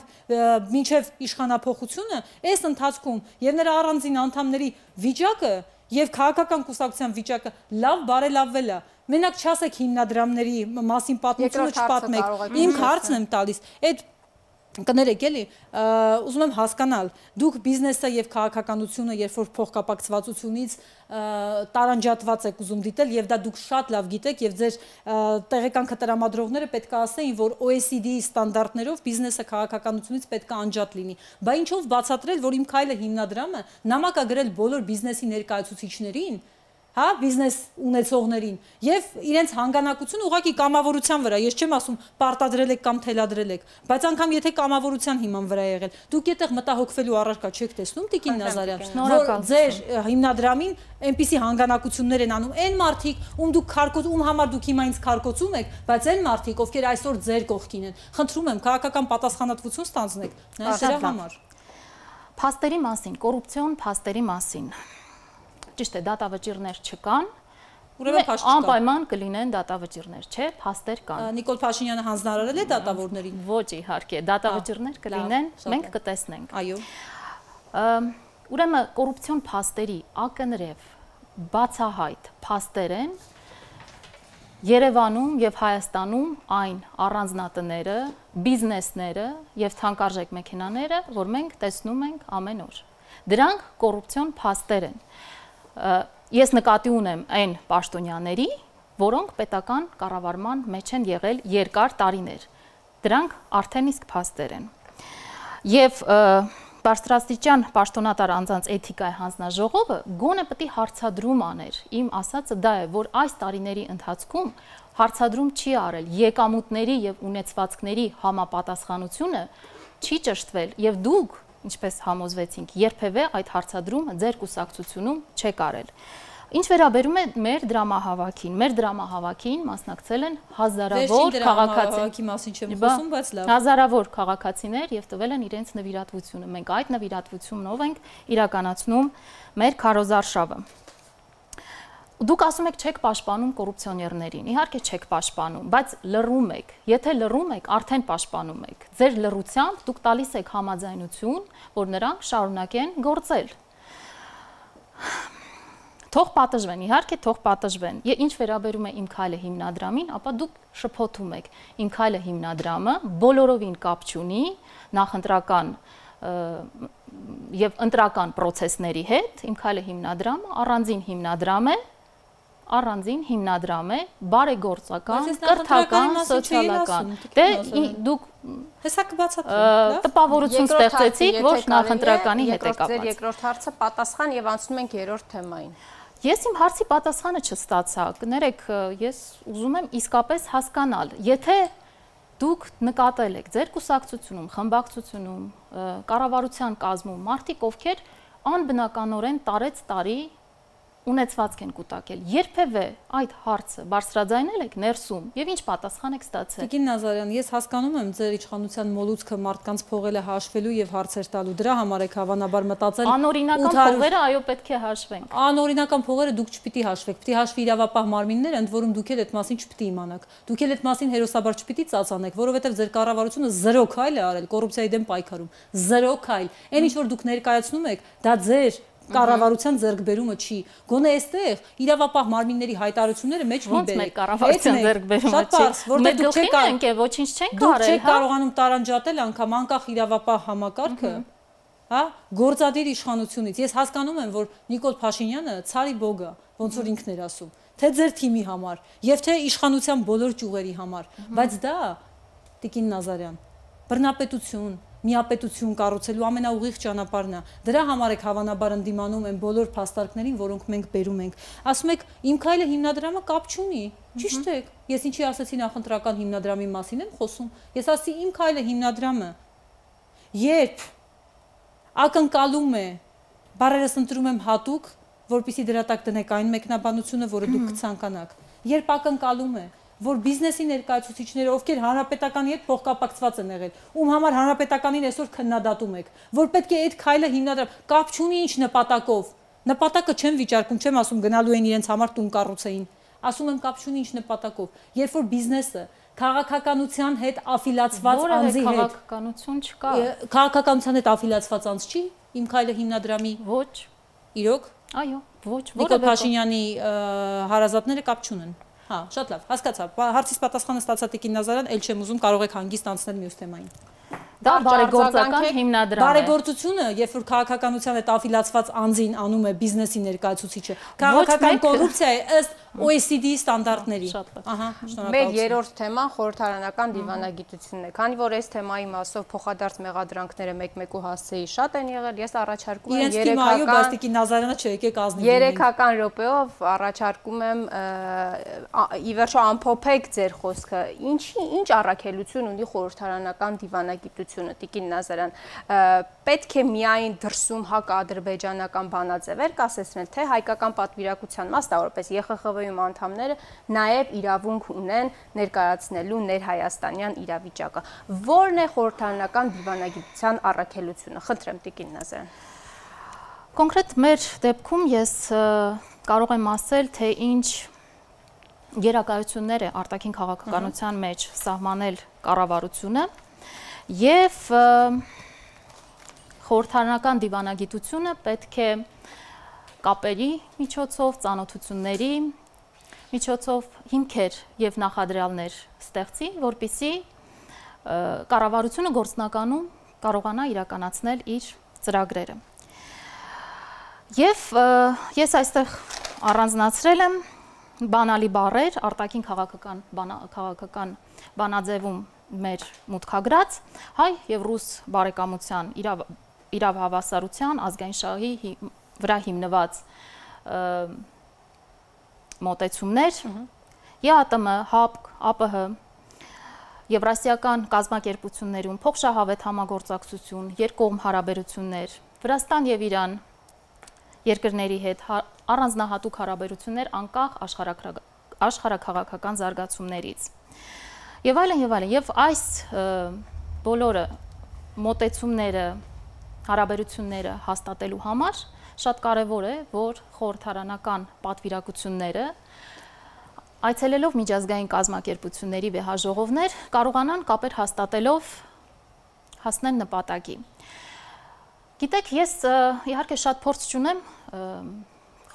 մինչև իշխանափոխությունը, այս ընթացքում եւ նրա առանձին անդամների վիճակը եւ քաղաքական կուսակցության վիճակը լավ բարելավվել է։ Մենակ չասեք հիմնադրամների մասին պատմությունը չպատմեք։ Իմ հարցն եմ տալիս, այդ կներեք էլի, ուզում եմ հասկանալ, դուք բիզնեսը եւ քաղաքականությունը, երբ որ փոխկապակցվածությունից տարանջատված եք ուզում դիտել եւ դա դուք շատ լավ գիտեք եւ ձեր տեղեական քտրամադրողները պետք է ասեին, որ O E C D-ի ստանդարտներով բիզնեսը քաղաքականությունից պետք է անջատ լինի։ Բա ինչով բացատրել, որ իմ քայլը հիմնադրամը նամակ է գրել բոլոր բիզնեսի ներկայացուցիչներին, հա, բիզնես ունեցողներին եւ իրենց հանգանակությունը ուղղակի կամավորության վրա, ես չեմ ասում պարտադրել եք կամ թելադրել եք, բայց անգամ եթե կամավորության հիման վրա եղել, դուք այդտեղ մտահոգվելու առարկա չեք տեսնում, Տիկին Նազարյան, որ ձեր հիմնադրամին այնպիսի հանգանակություններ են անում այն մարդիկ, ում դուք քարկոց, ում համար դուք հիմա ինձ քարկոցում եք, բայց այն մարդիկ, ովքեր այսօր ձեր կողքին են, խնդրում եմ քաղաքական պատասխանատվություն ստանձնեք նրա համար։ Փաստերի մասին, կոռուպցիոն փաստերի մասին։ Ճիշտ է, դատավճիռներ չկան, անպայման կլինեն դատավճիռներ, չէ, փաստեր կան։ Նիկոլ Փաշինյանը հանձնարարել է դատավորներին։ Ոչ, իհարկե, դատավճիռներ կլինեն, մենք կտեսնենք։ Այո։ Ուրեմն կոռուպցիոն փաստերի ակնրև բացահայտ փաստեր են Երևանում եւ Հայաստանում այն առանձնատները, բիզնեսները եւ թանկարժեք մեքենաները, որ մենք տեսնում ենք ամեն օր։ Դրանք կոռուպցիոն փաստեր են։ Ես նկատի ունեմ այն պաշտոնյաների, որոնք պետական կառավարման մեջ են եղել երկար տարիներ։ Դրանք արդեն իսկ փաստեր են։ Եվ բարձրաստիճան պաշտոնատար անձանց էթիկայի հանձնաժողովը գոնե պետք է հարցադրում աներ։ Իմ ասածը դա է, որ այս տարիների ընթացքում հարցադրում չի արել եկամուտների եւ ունեցվածքների համապատասխանությունը չի ճշտվել եւ դուք ինչպես համոզվեցինք, երբևէ այդ հարցադրումը ձեր կուսակցությունում չեք արել։ Ինչ վերաբերում է մեր դրամահավաքին, մեր դրամահավաքին մասնակցել են հազարավոր քաղաքացիներ, հազարավոր քաղաքացիներ եւ տվել են իրենց նվիրատվությունը։ Մենք այդ նվիրատվությունով ենք իրականացնում մեր քարոզարշավը։ Դուք ասում եք չեք պաշտպանում կոռուպցիոներներին, իհարկե չեք պաշտպանում, բայց լռում եք, եթե լռում եք, արդեն պաշտպանում եք, ձեր լռությամբ դուք տալիս եք համաձայնություն, որ նրանք շարունակեն գործել։ Թող պատժվեն, իհարկե թող պատժվեն, ինչ վերաբերում է իմ քայլը հիմնադրամին, ապա դուք շփոթում եք, իմ քայլը հիմնադրամը բոլորովին կապ չունի նախընտրական եւ ընտրական process-ների հետ, իմ քայլը հիմնադրամը առանձին հիմնադրամ է, առանձին հիմնադրամ է, բարեգործական, կրթական, սոցիալական։ Դե դուք հեսա կբացատրեմ, տպավորություն ստեղծեցիք, որ նախընտրականի հետ է կապված։ Ձեր երկրորդ հարցը պատասխան եւ անցնում ենք երրորդ թեմային։ Ես իմ հարցի պատասխանը չստացա։ Կներեք, ես ուզում եմ իսկապես հասկանալ, եթե դուք նկատել եք ձեր կուսակցությունում, խմբակցությունում, կառավարության կազմում մարդիկ, ովքեր անբնականորեն տարեց տարի ունեցվածք են կուտակել, երբևէ այդ հարցը բարձրաձայնել եք ներսում եւ ինչ պատասխան եք ստացել։ Տիկին Նազարյան, ես հասկանում եմ ձեր իշխանության մոլուցքը մարդկանց փողերը հաշվելու եւ հարցեր տալու, դրա համար եք հավանաբար մտածել անօրինական փողերը, այո, պետք է հաշվենք։ Անօրինական փողերը դուք չպիտի հաշվեք, պիտի հաշվի իրավապահ մարմինները, ընդ որում դուք էլ այդ մասին չպիտի իմանաք։ Դուք էլ այդ մասին հերոսաբար չպիտի ծածանեք, որովհետեւ ձեր կառավարությունը զրո քայլ է արել կոռուպցիայի դեմ պայքարում։ Զրո քայլ։ Այն ինչ որ դուք ներկայացնում եք, դա ձեր կառավարության ձեռքբերումը չի։ Գոնե այստեղ իրավապահ մարմինների հայտարարությունները մեջ մի բերեք։ Կառավարության ձեռքբերումը չի։ Որտեղ դուք չեք կարող, ոչինչ չենք արել, դուք չեք կարողանում տարանջատել անգամ անկախ իրավապահ համակարգը, հա, գործադիր իշխանությունից։ Ես հասկանում եմ, որ Նիկոլ Փաշինյանը ցարի բոգ է, ոնց որ ինքն էր ասում, թե ձեր թիմի համար, եւ թե իշխանության բոլոր ճյուղերի համար, բայց դա Տիկին Նազարյան, բռնապետություն միապետություն կառուցելու ամենաուղիղ ճանապարհն է։ Դրա համար եք հավանաբար ընդդիմանում են բոլոր փաստարկներին, որոնք մենք բերում ենք։ Ասում եք, իմ քայլը հիմնադրամը կապ չունի։ Ճիշտ եք։ Ես ինչի ասացի նախընտրական հիմնադրամի մասին եմ խոսում։ Ես ասի իմ քայլը հիմնադրամը երբ ակնկալում է, բարերս ընտրում եմ հատուկ, որպեսզի դրա տակ դնեք այն մեկնաբանությունը, որը դուք կցանկանաք։ Երբ ակնկալում է, որ բիզնեսի ներկայացուցիչները, ովքեր հանրապետականի հետ փոխկապակցված են եղել, ում համար հանրապետականին այսօր քննադատում եք, որ պետք է այդ քայլը հիմնադրամ, կապ չունի ինչ նպատակով։ Նպատակը չեմ վիճարկում, չեմ ասում գնալու են իրենց համար տուն կառուցեին։ Ասում եմ կապ չունի ինչ նպատակով։ Երբ որ բիզնեսը քաղաքականության հետ աֆիլացված անձի հետ քաղաքականություն չկա։ Քաղաքականության հետ աֆիլացված անձ չի, իմ քայլը հիմնադրամի ոչ, իրոք Այո, ոչ, Նիկոլ Փաշինյանի հարազատները կապ չունեն։ Հա, շատ լավ, հասկացա։ Հարցից պատասխանը ստացա Տիկին Նազարյան, ել չեմ ուզում, կարող եք հանգիստ անցնել մյուս թեմային։ Դա բարեգործական հիմնադրամ է։ Բարեգործությունը, երբ որ քաղաքականության հետ աֆիլացված անձին անում է բիզնեսի ներկայացուցիչը, քաղաքական կոռուպցիա է ըստ O E C D-ի ստանդարտների։ Ահա, շնորհակալություն։ Մեր երրորդ թեման խորհրդարանական դիվանագիտությունն է։ Քանի որ այս թեմայի մասով փոխադարձ մեղադրանքները մեկ-մեկու հասցեի շատ են եղել, ես առաջարկում եմ երեքական Տիկին Նազարյանը չեկեք ազնիվ։ երեքական րոպեով առաջարկում եմ ի վերջո ամփոփեք ձեր խոսքը։ Ինչի ինչ առաքելություն ունի խորհրդարանական դիվանագիտությունը, Տիկին Նազարյան, պետք է միայն դրսում հակաադրբեջանական բանաձևեր կասեցնել, թե հայկական պատվիրակության մասնավորապես Ե Խ Խ V-ում անդամները նաև իրավունք ունեն ներկայացնելու ներհայաստանյան իրավիճակը։ Որն է խորհրդարանական դիվանագիտության առաքելությունը։ Խնդրեմ Տիկին Նազարյան։ Կոնկրետ մեր դեպքում ես կարող եմ ասել, թե ինչ գերակայություններ է արտաքին քաղաքականության մեջ սահմանել կառավարությունը եւ խորհրդարանական դիվանագիտությունը պետք է կապերի միջոցով, ծանոթությունների միջոցով հիմքեր եւ նախադրյալներ ստեղծի, որպիսի կառավարությունը գործնականում կարողանա իրականացնել իր ծրագրերը։ Եվ ես այստեղ առանձնացրել եմ բանալի բառեր արտաքին քաղաքական քաղաքական բանաձևում մեր մուտքագրած հայ եւ ռուս բարեկամության իրավ իրավ հավասարության ազգային շահի վրա հիմնված մոտեցումներ, Ե Ա Տը Մ, ՀԱՊԿ, Ա Պ Հ, եվրասիական կազմակերպություններում փոխշահավետ համագործակցություն, երկկողմ հարաբերություններ, Վրաստան եւ Իրան երկրների հետ առանձնահատուկ հարաբերություններ անկախ աշխարհաքաղաքական զարգացումներից։ Եվ այլն եւ այլն, եւ այս բոլորը մոտեցումները, հարաբերությունները հաստատելու համար շատ կարևոր է, որ խորհրդարանական պատվիրակությունները այցելելով միջազգային կազմակերպությունների վեհաժողովներ կարողանան կապեր հաստատելով հասնել նպատակի։ Գիտեք, ես իհարկե շատ փորձ չունեմ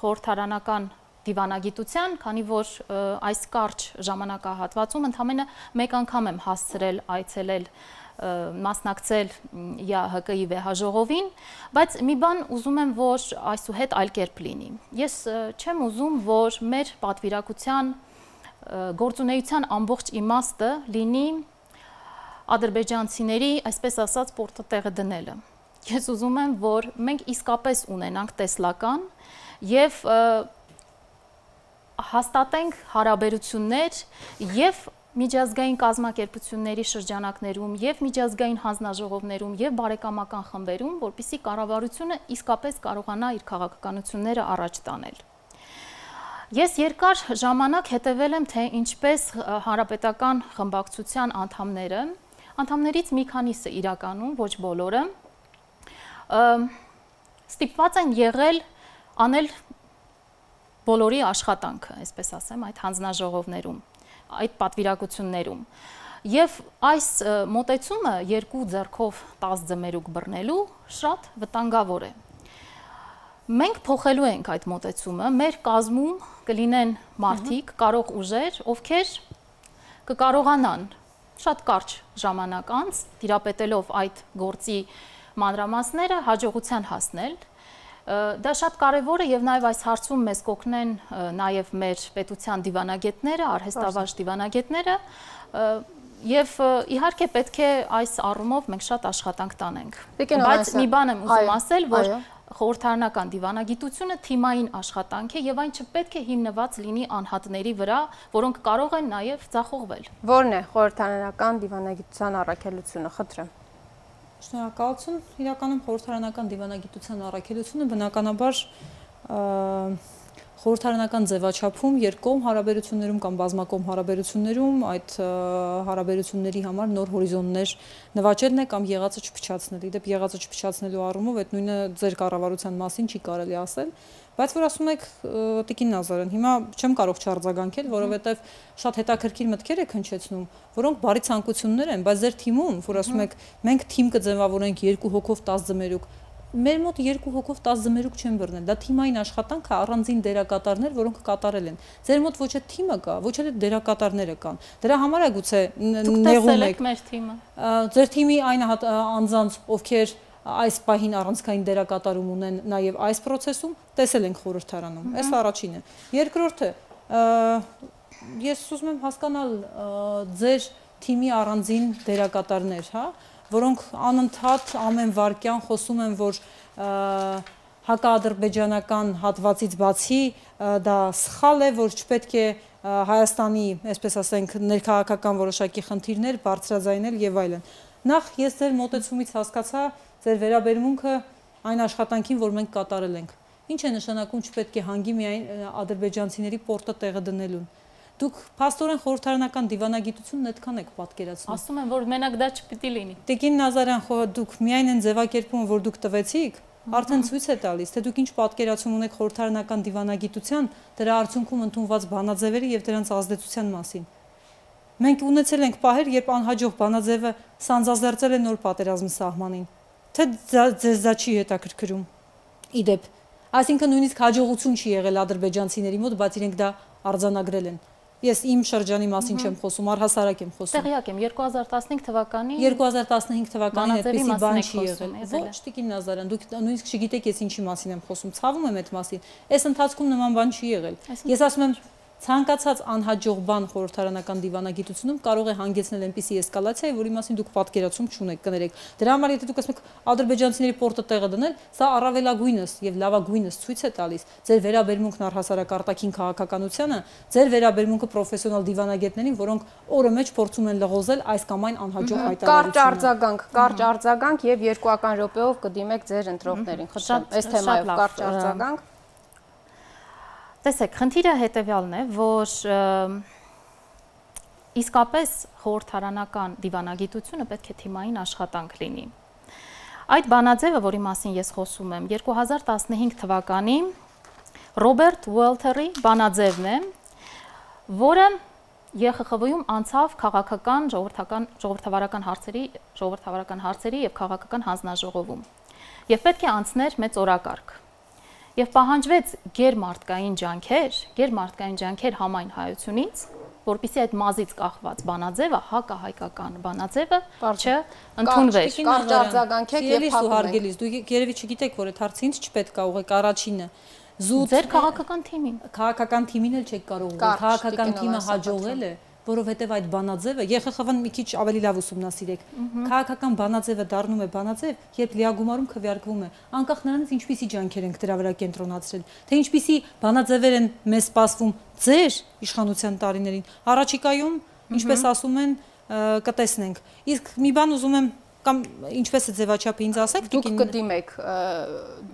խորհրդարանական դիվանագիտության, քանի որ այս կարճ ժամանակահատվածում ընդամենը մեկ անգամ եմ հասցրել այցելել մասնակցել Յ Հ Կ-ի վեհաժողովին, բայց մի բան ուզում եմ, որ այսուհետ այլ կերպ լինի։ Ես չեմ ուզում, որ մեր պատվիրակության գործունեության ամբողջ իմաստը լինի ադրբեջանցիների, այսպես ասած, պորտը տեղը դնելը։ Ես ուզում եմ, որ մենք իսկապես ունենանք տեսլական եւ հաստատենք հարաբերություններ եւ միջազգային կազմակերպությունների շրջանակներում եւ միջազգային հանձնաժողովներում եւ բարեկամական խմբերում, որպիսի կառավարությունը իսկապես կարողանա իր քաղաքականությունները առաջ տանել։ Ես երկար ժամանակ հետևել եմ, թե ինչպես հանրապետական խմբակցության անդամները, անդամներից մի քանիսը իրականում, ոչ բոլորը, ստիպված են եղել անել բոլորի աշխատանքը, այսպես ասեմ, այդ հանձնաժողովներում, այդ պատվիրակություններում։ Եվ այս մոտեցումը երկու ձեռքով տաս ձմերուկ բռնելու շատ վտանգավոր է։ Մենք փոխելու ենք այդ մոտեցումը, մեր կազմում կլինեն մարդիկ, կարող ուժեր, ովքեր կկարողանան շատ կարճ ժամանակ անց, տիրապետելով այդ գործի մանրամասները, հաջողության հասնել։ Դա շատ կարևոր է եւ նաեւ այս հարցում մեզ կօգնեն նաեւ մեր պետության դիվանագետները, արհեստավարժ դիվանագետները եւ իհարկե պետք է այս առումով մենք շատ աշխատանք տանենք։ Բայց մի բան եմ ուզում ասել, որ խորհրդարանական դիվանագիտությունը թիմային աշխատանք է եւ այն չպետք է հիմնված լինի անհատների վրա, որոնք կարող են նաեւ ձախողվել։ Որն է խորհրդարանական դիվանագիտության առաքելությունը, խնդրեմ։ Շնորհակալություն, իրականում խորհրդարանական դիվանագիտության առաքելությունը բնականաբար խորհրդարանական ձևաչափում երկկողմ հարաբերություններում կամ բազմակողմ հարաբերություններում այդ հարաբերությունների համար նոր հորիզոններ նվաճելն է կամ եղածը չփչացնել։ Իդեպ եղածը չփչացնելու առումով այդ նույնը ձեր կառավարության մասին չի կարելի ասել, բայց որ ասում եք Տիկին Նազարյան, հիմա չեմ կարող չարձագանքել, որովհետև շատ հետաքրքիր մտքեր եք հնչեցնում, որոնք բարի ցանկություններ են, բայց ձեր թիմում, որ ասում եք մենք թիմ կձևավորենք երկու հոգով տաս ձմերուկ, մեր մոտ երկու հոգով տասը ձմերուկ չեն բռնել։ Դա թիմային աշխատանք է, առանձին դերակատարներ, որոնք կատարել են։ Ձեր մոտ ոչ է թիմը կա, ոչ էլ դերակատարները կան։ Դրա համար է գուցե նեղում եք մեր թիմը։ Ձեր թիմի այն անձանց, ովքեր այս պահին առանցքային դերակատարում ունեն նաև այս process-ում, տեսել ենք խորհրդարանում։ Այս առաջինը։ Երկրորդը, ես ուզում եմ հասկանալ ձեր թիմի առանձին դերակատարներ, հա, որոնք անընդհատ ամեն վարքյան խոսում են, որ հակաադրբեջանական հատվածից բացի դա սխալ է, որ չպետք է Հայաստանի, այսպես ասենք, ներքաղաքական որոշակի խնդիրներ բարձրաձայնել եւ այլն։ Նախ ես ձեր մոտեցումից հասկացա ձեր վերաբերմունքը այն աշխատանքին, որ մենք կատարել ենք։ Ինչ է նշանակում չպետք է հանգի միայն ադրբեջանցիների պորտը տեղը դնելուն։ Դուք փաստորեն խորհրդարանական դիվանագիտությունն այդքան եք պատկերացնում։ Ասում եմ, որ մենակ դա չպիտի լինի։ Տիկին Նազարյան, դուք միայն այն ձևակերպումը, որ դուք տվեցիք, արդեն ցույց է տալիս, թե դուք ինչ պատկերացում ունեք խորհրդարանական դիվանագիտության, դրա արդյունքում ընդունված բանաձևերի եւ դրանց ազդեցության մասին։ Մենք ունեցել ենք պահեր, երբ անհաջող բանաձևը սանձազերծել է նոր պատերազմի սահմանին։ Թե ձեզ դա չի հետաքրքրում։ Իդեպ, այսինքն նույնիսկ հաջողություն չի եղել ադրբեջանցիների մոտ, բայց իրենք դա արձանագրել են։ Ես իմ շրջանի մասին չեմ խոսում, առհասարակ եմ խոսում։ Տեղյակ եմ, երկու հազար տասնհինգ թվականի երկու հազար տասնհինգ թվականին այդպիսի բան չի եղել։ Ոչ, Տիկին Նազարյան, դուք նույնիսկ չգիտեք ես ինչի մասին եմ խոսում, ցավում եմ այդ մասին։ Այս ընթացքում նման բան չի եղել։ Ես ասում եմ, ցանկացած անհաջող բան խորհրդարանական դիվանագիտությունում կարող է հանգեցնել այնպիսի էսկալացիայի, որի մասին դուք պատկերացում չունեք, կներեք։ Դրա համար եթե դուք ասում եք ադրբեջանցիների պորտը տեղը դնել, սա առավելագույնս եւ լավագույնս ցույց է տալիս ձեր վերաբերմունքն առհասարակ արտաքին քաղաքականությանը, ձեր վերաբերմունքը պրոֆեսիոնալ դիվանագետներին, որոնք օրը մեջ փորձում են լղոզել այս կամ այն անհաջող հայտարարությունը։ Կարճ արձագանք, կարճ արձագանք եւ երկուական րոպեով կդիմեք ձեր ընտրողներին։ Խնդրեմ, այս թեմայով կարճ արձագանք։ Տեսեք, խնդիրը հետևյալն է, որ իսկապես խորհրդարանական դիվանագիտությունը պետք է թիմային աշխատանք լինի։ Այդ բանաձևը, որի մասին ես խոսում եմ, երկու հազար տասնհինգ թվականի Ռոբերտ Ուելթերի բանաձևն է, որը Ե Խ Խ V-ում անցավ քաղաքական, ժողովրդական, ժողովրդավարական հարցերի, ժողովրդավարական հարցերի եւ քաղաքական հանձնաժողովում։ Եվ պետք է անցներ մեծ օրակարգ։ Եվ պահանջվեց գերմարտկային ջանքեր, գերմարտկային ջանքեր համայն հայությունից, որպեսզի այդ մազից կախված բանաձևը, հակահայկական բանաձևը չընդունվեր։ Կարճ արձագանքեք եւ փակեք։ Դուք երևի չգիտեք, որ այդ հարցը ինձ չպետք է ուղղեք առաջինը։ Զուտ ձեր քաղաքական թիմին։ Քաղաքական թիմին էլ չեք կարող ուղղել։ Քաղաքական թիմը հաջողել է, որովհետև այդ բանաձևը Ե Խ Խ V-ն մի քիչ ավելի լավ ուսումնասիրեք։ Քաղաքական բանաձևը դառնում է բանաձև, երբ լիագումարում քվեարկվում է, անկախ նրանից ինչպիսի ջանքեր ենք դրա վրա կենտրոնացրել, թե ինչպիսի բանաձևեր են մեզ սպասվում ձեր իշխանության տարիներին։ Առաջիկայում, ինչպես ասում են, կտեսնենք։ Իսկ մի բան ուզում եմ կամ ինչպես է ձևաչափը ինձ ասեք, դուք կդիմեք,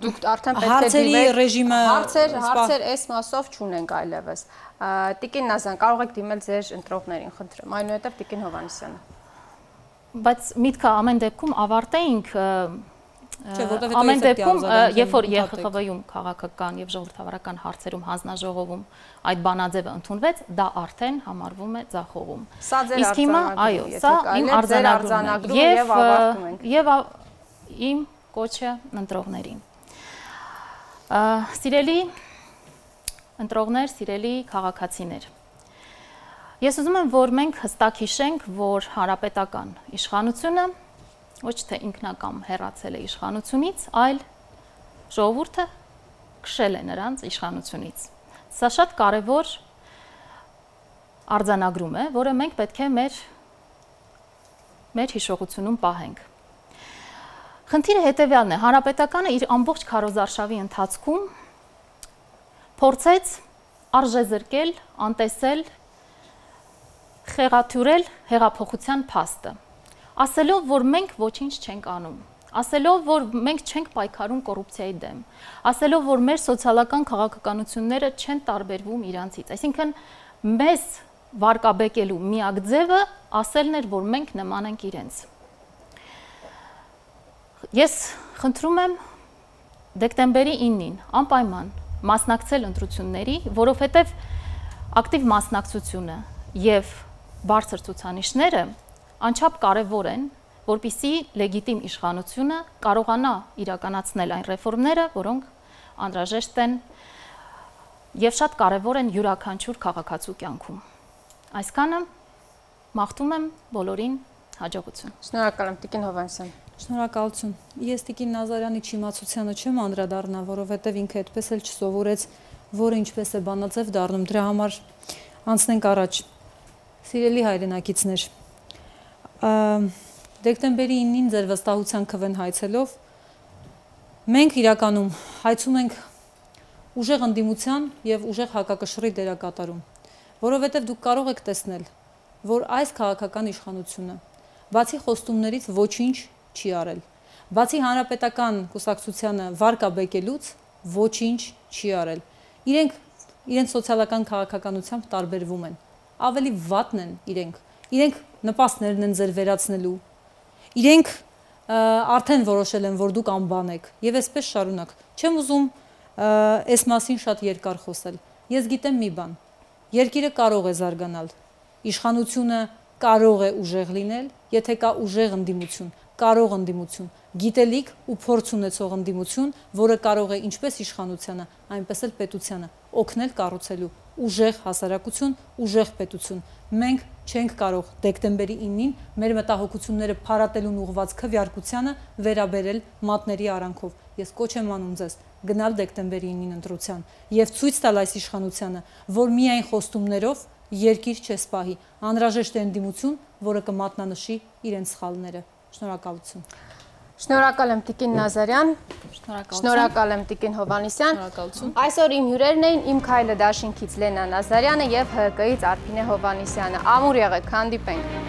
դուք արդեն պետք է հարցերի ռեժիմը հարցեր, հարցեր այս մասով չունենք այլևս։ Տիկին Նազարյան, կարող եք դիմել ձեր ընտրողներին, խնդրեմ, այնուհետև Տիկին Հովհաննիսյանը։ Բայց միտքը ամեն դեպքում ավարտեինք, ամեն դեպքում, երբ որ Ե Խ Խ V-ում քաղաքական եւ ժողովրդավարական հարցերում հանձնաժողովում այդ բանաձևը ընդունվեց, դա արդեն համարվում է ձախողում։ Իսկ հիմա, այո, սա իմ արձանագրումն է եւ ավարտում ենք։ Եվ իմ կոչը ընտրողներին։ Սիրելի ընտրողներ, սիրելի քաղաքացիներ։ Ես ուզում եմ, որ մենք հստակ հիշենք, որ հանրապետական իշխանությունը ոչ թե ինքնակամ հեռացել է իշխանությունից, այլ ժողովուրդը քշել է նրանց իշխանությունից։ Սա շատ կարևոր արձանագրում է, որը մենք պետք է մեր մեր հիշողությունում պահենք։ Խնդիրը հետևյալն է, հանրապետականը իր ամբողջ քարոզարշավի ընթացքում փորձեց արժեզրկել, անտեսել, խեղաթյուրել հեղափոխության փաստը, ասելով, որ մենք ոչինչ չենք անում, ասելով, որ մենք չենք պայքարում կոռուպցիայի դեմ, ասելով, որ մեր սոցիալական քաղաքականությունները չեն տարբերվում իրանցից, այսինքն մեզ վարկաբեկելու միակ ձևը ասելն էր, որ մենք նման ենք իրենց։ Ես խնդրում եմ դեկտեմբերի իննին անպայման մասնակցել ընտրությունների, որովհետև ակտիվ մասնակցությունը եւ բարձր ցուցանիշները անչափ կարևոր են որպեսզի լեգիտիմ իշխանությունը կարողանա իրականացնել այն ռեֆորմները, որոնք անհրաժեշտ են եւ շատ կարեւոր են յուրաքանչյուր քաղաքացու կյանքում։ Այսքանը մաղթում եմ բոլորին հաջողություն։ Շնորհակալ եմ Տիկին Հովհաննիսյան։ Շնորհակալություն։ Ես Տիկին Նազարյանի չիմացությանը չեմ անդրադառնա, որովհետև ինքը այդպես էլ չսովորեց, որը ինչպես է բանաձև դառնում, դրա համար անցնենք առաջ։ Սիրելի հայրենակիցներ, դեկտեմբերի ինին ձեր վստահության քվեն հայցելով մենք իրականում հայցում ենք ուժեղ ընդդիմության եւ ուժեղ հակակշռի դերակատարում, որովհետեւ դուք կարող եք տեսնել, որ այս քաղաքական իշխանությունը բացի խոստումներից ոչինչ չի արել, բացի հանրապետական կուսակցությանը վարկաբեկելուց ոչինչ չի արել։ Իրենք իրենց սոցիալական քաղաքականությամբ տարբերվում են, ավելի վատն են իրենք, իրենք նպաստներն են ձեր վերացնելու, իրենք արդեն որոշել են, որ դուք անբան եք, եւ այսպես շարունակ։ Չեմ ուզում այս մասին շատ երկար խոսել։ Ես գիտեմ մի բան, երկիրը կարող է զարգանալ, իշխանությունը կարող է ուժեղ լինել, եթե կա ուժեղ ընդդիմություն, կարող ընդդիմություն, գիտելիք ու փորձ ունեցող ընդդիմություն, որը կարող է ինչպես իշխանությանը, այնպես էլ պետությանը օգնել կառուցելու ուժեղ հասարակություն, ուժեղ պետություն։ Մենք չենք կարող դեկտեմբերի ինին մեր մտահոգությունները փարատելուն ուղղված քվեարկությանը վերաբերել մատների արանքով։ Ես կոչ եմ անում ձեզ գնալ դեկտեմբերի ինին ընտրության եւ ցույց տալ այս իշխանությանը, որ միայն խոստումներով երկիր չեսպահի, անհրաժեշտ է ընդդիմություն, որը կմատնանշի իրենց սխալները։ Շնորհակալություն։ Շնորհակալ եմ Տիկին Նազարյան, շնորհակալ եմ Տիկին Հովհաննիսյան։ Այսօր իմ հյուրերն էին Իմ քայլը դաշինքից Լենա Նազարյանը եւ ՀՀԿ-ից Արփինե Հովհաննիսյանը։ Ամուր եղեք, հանդիպենք։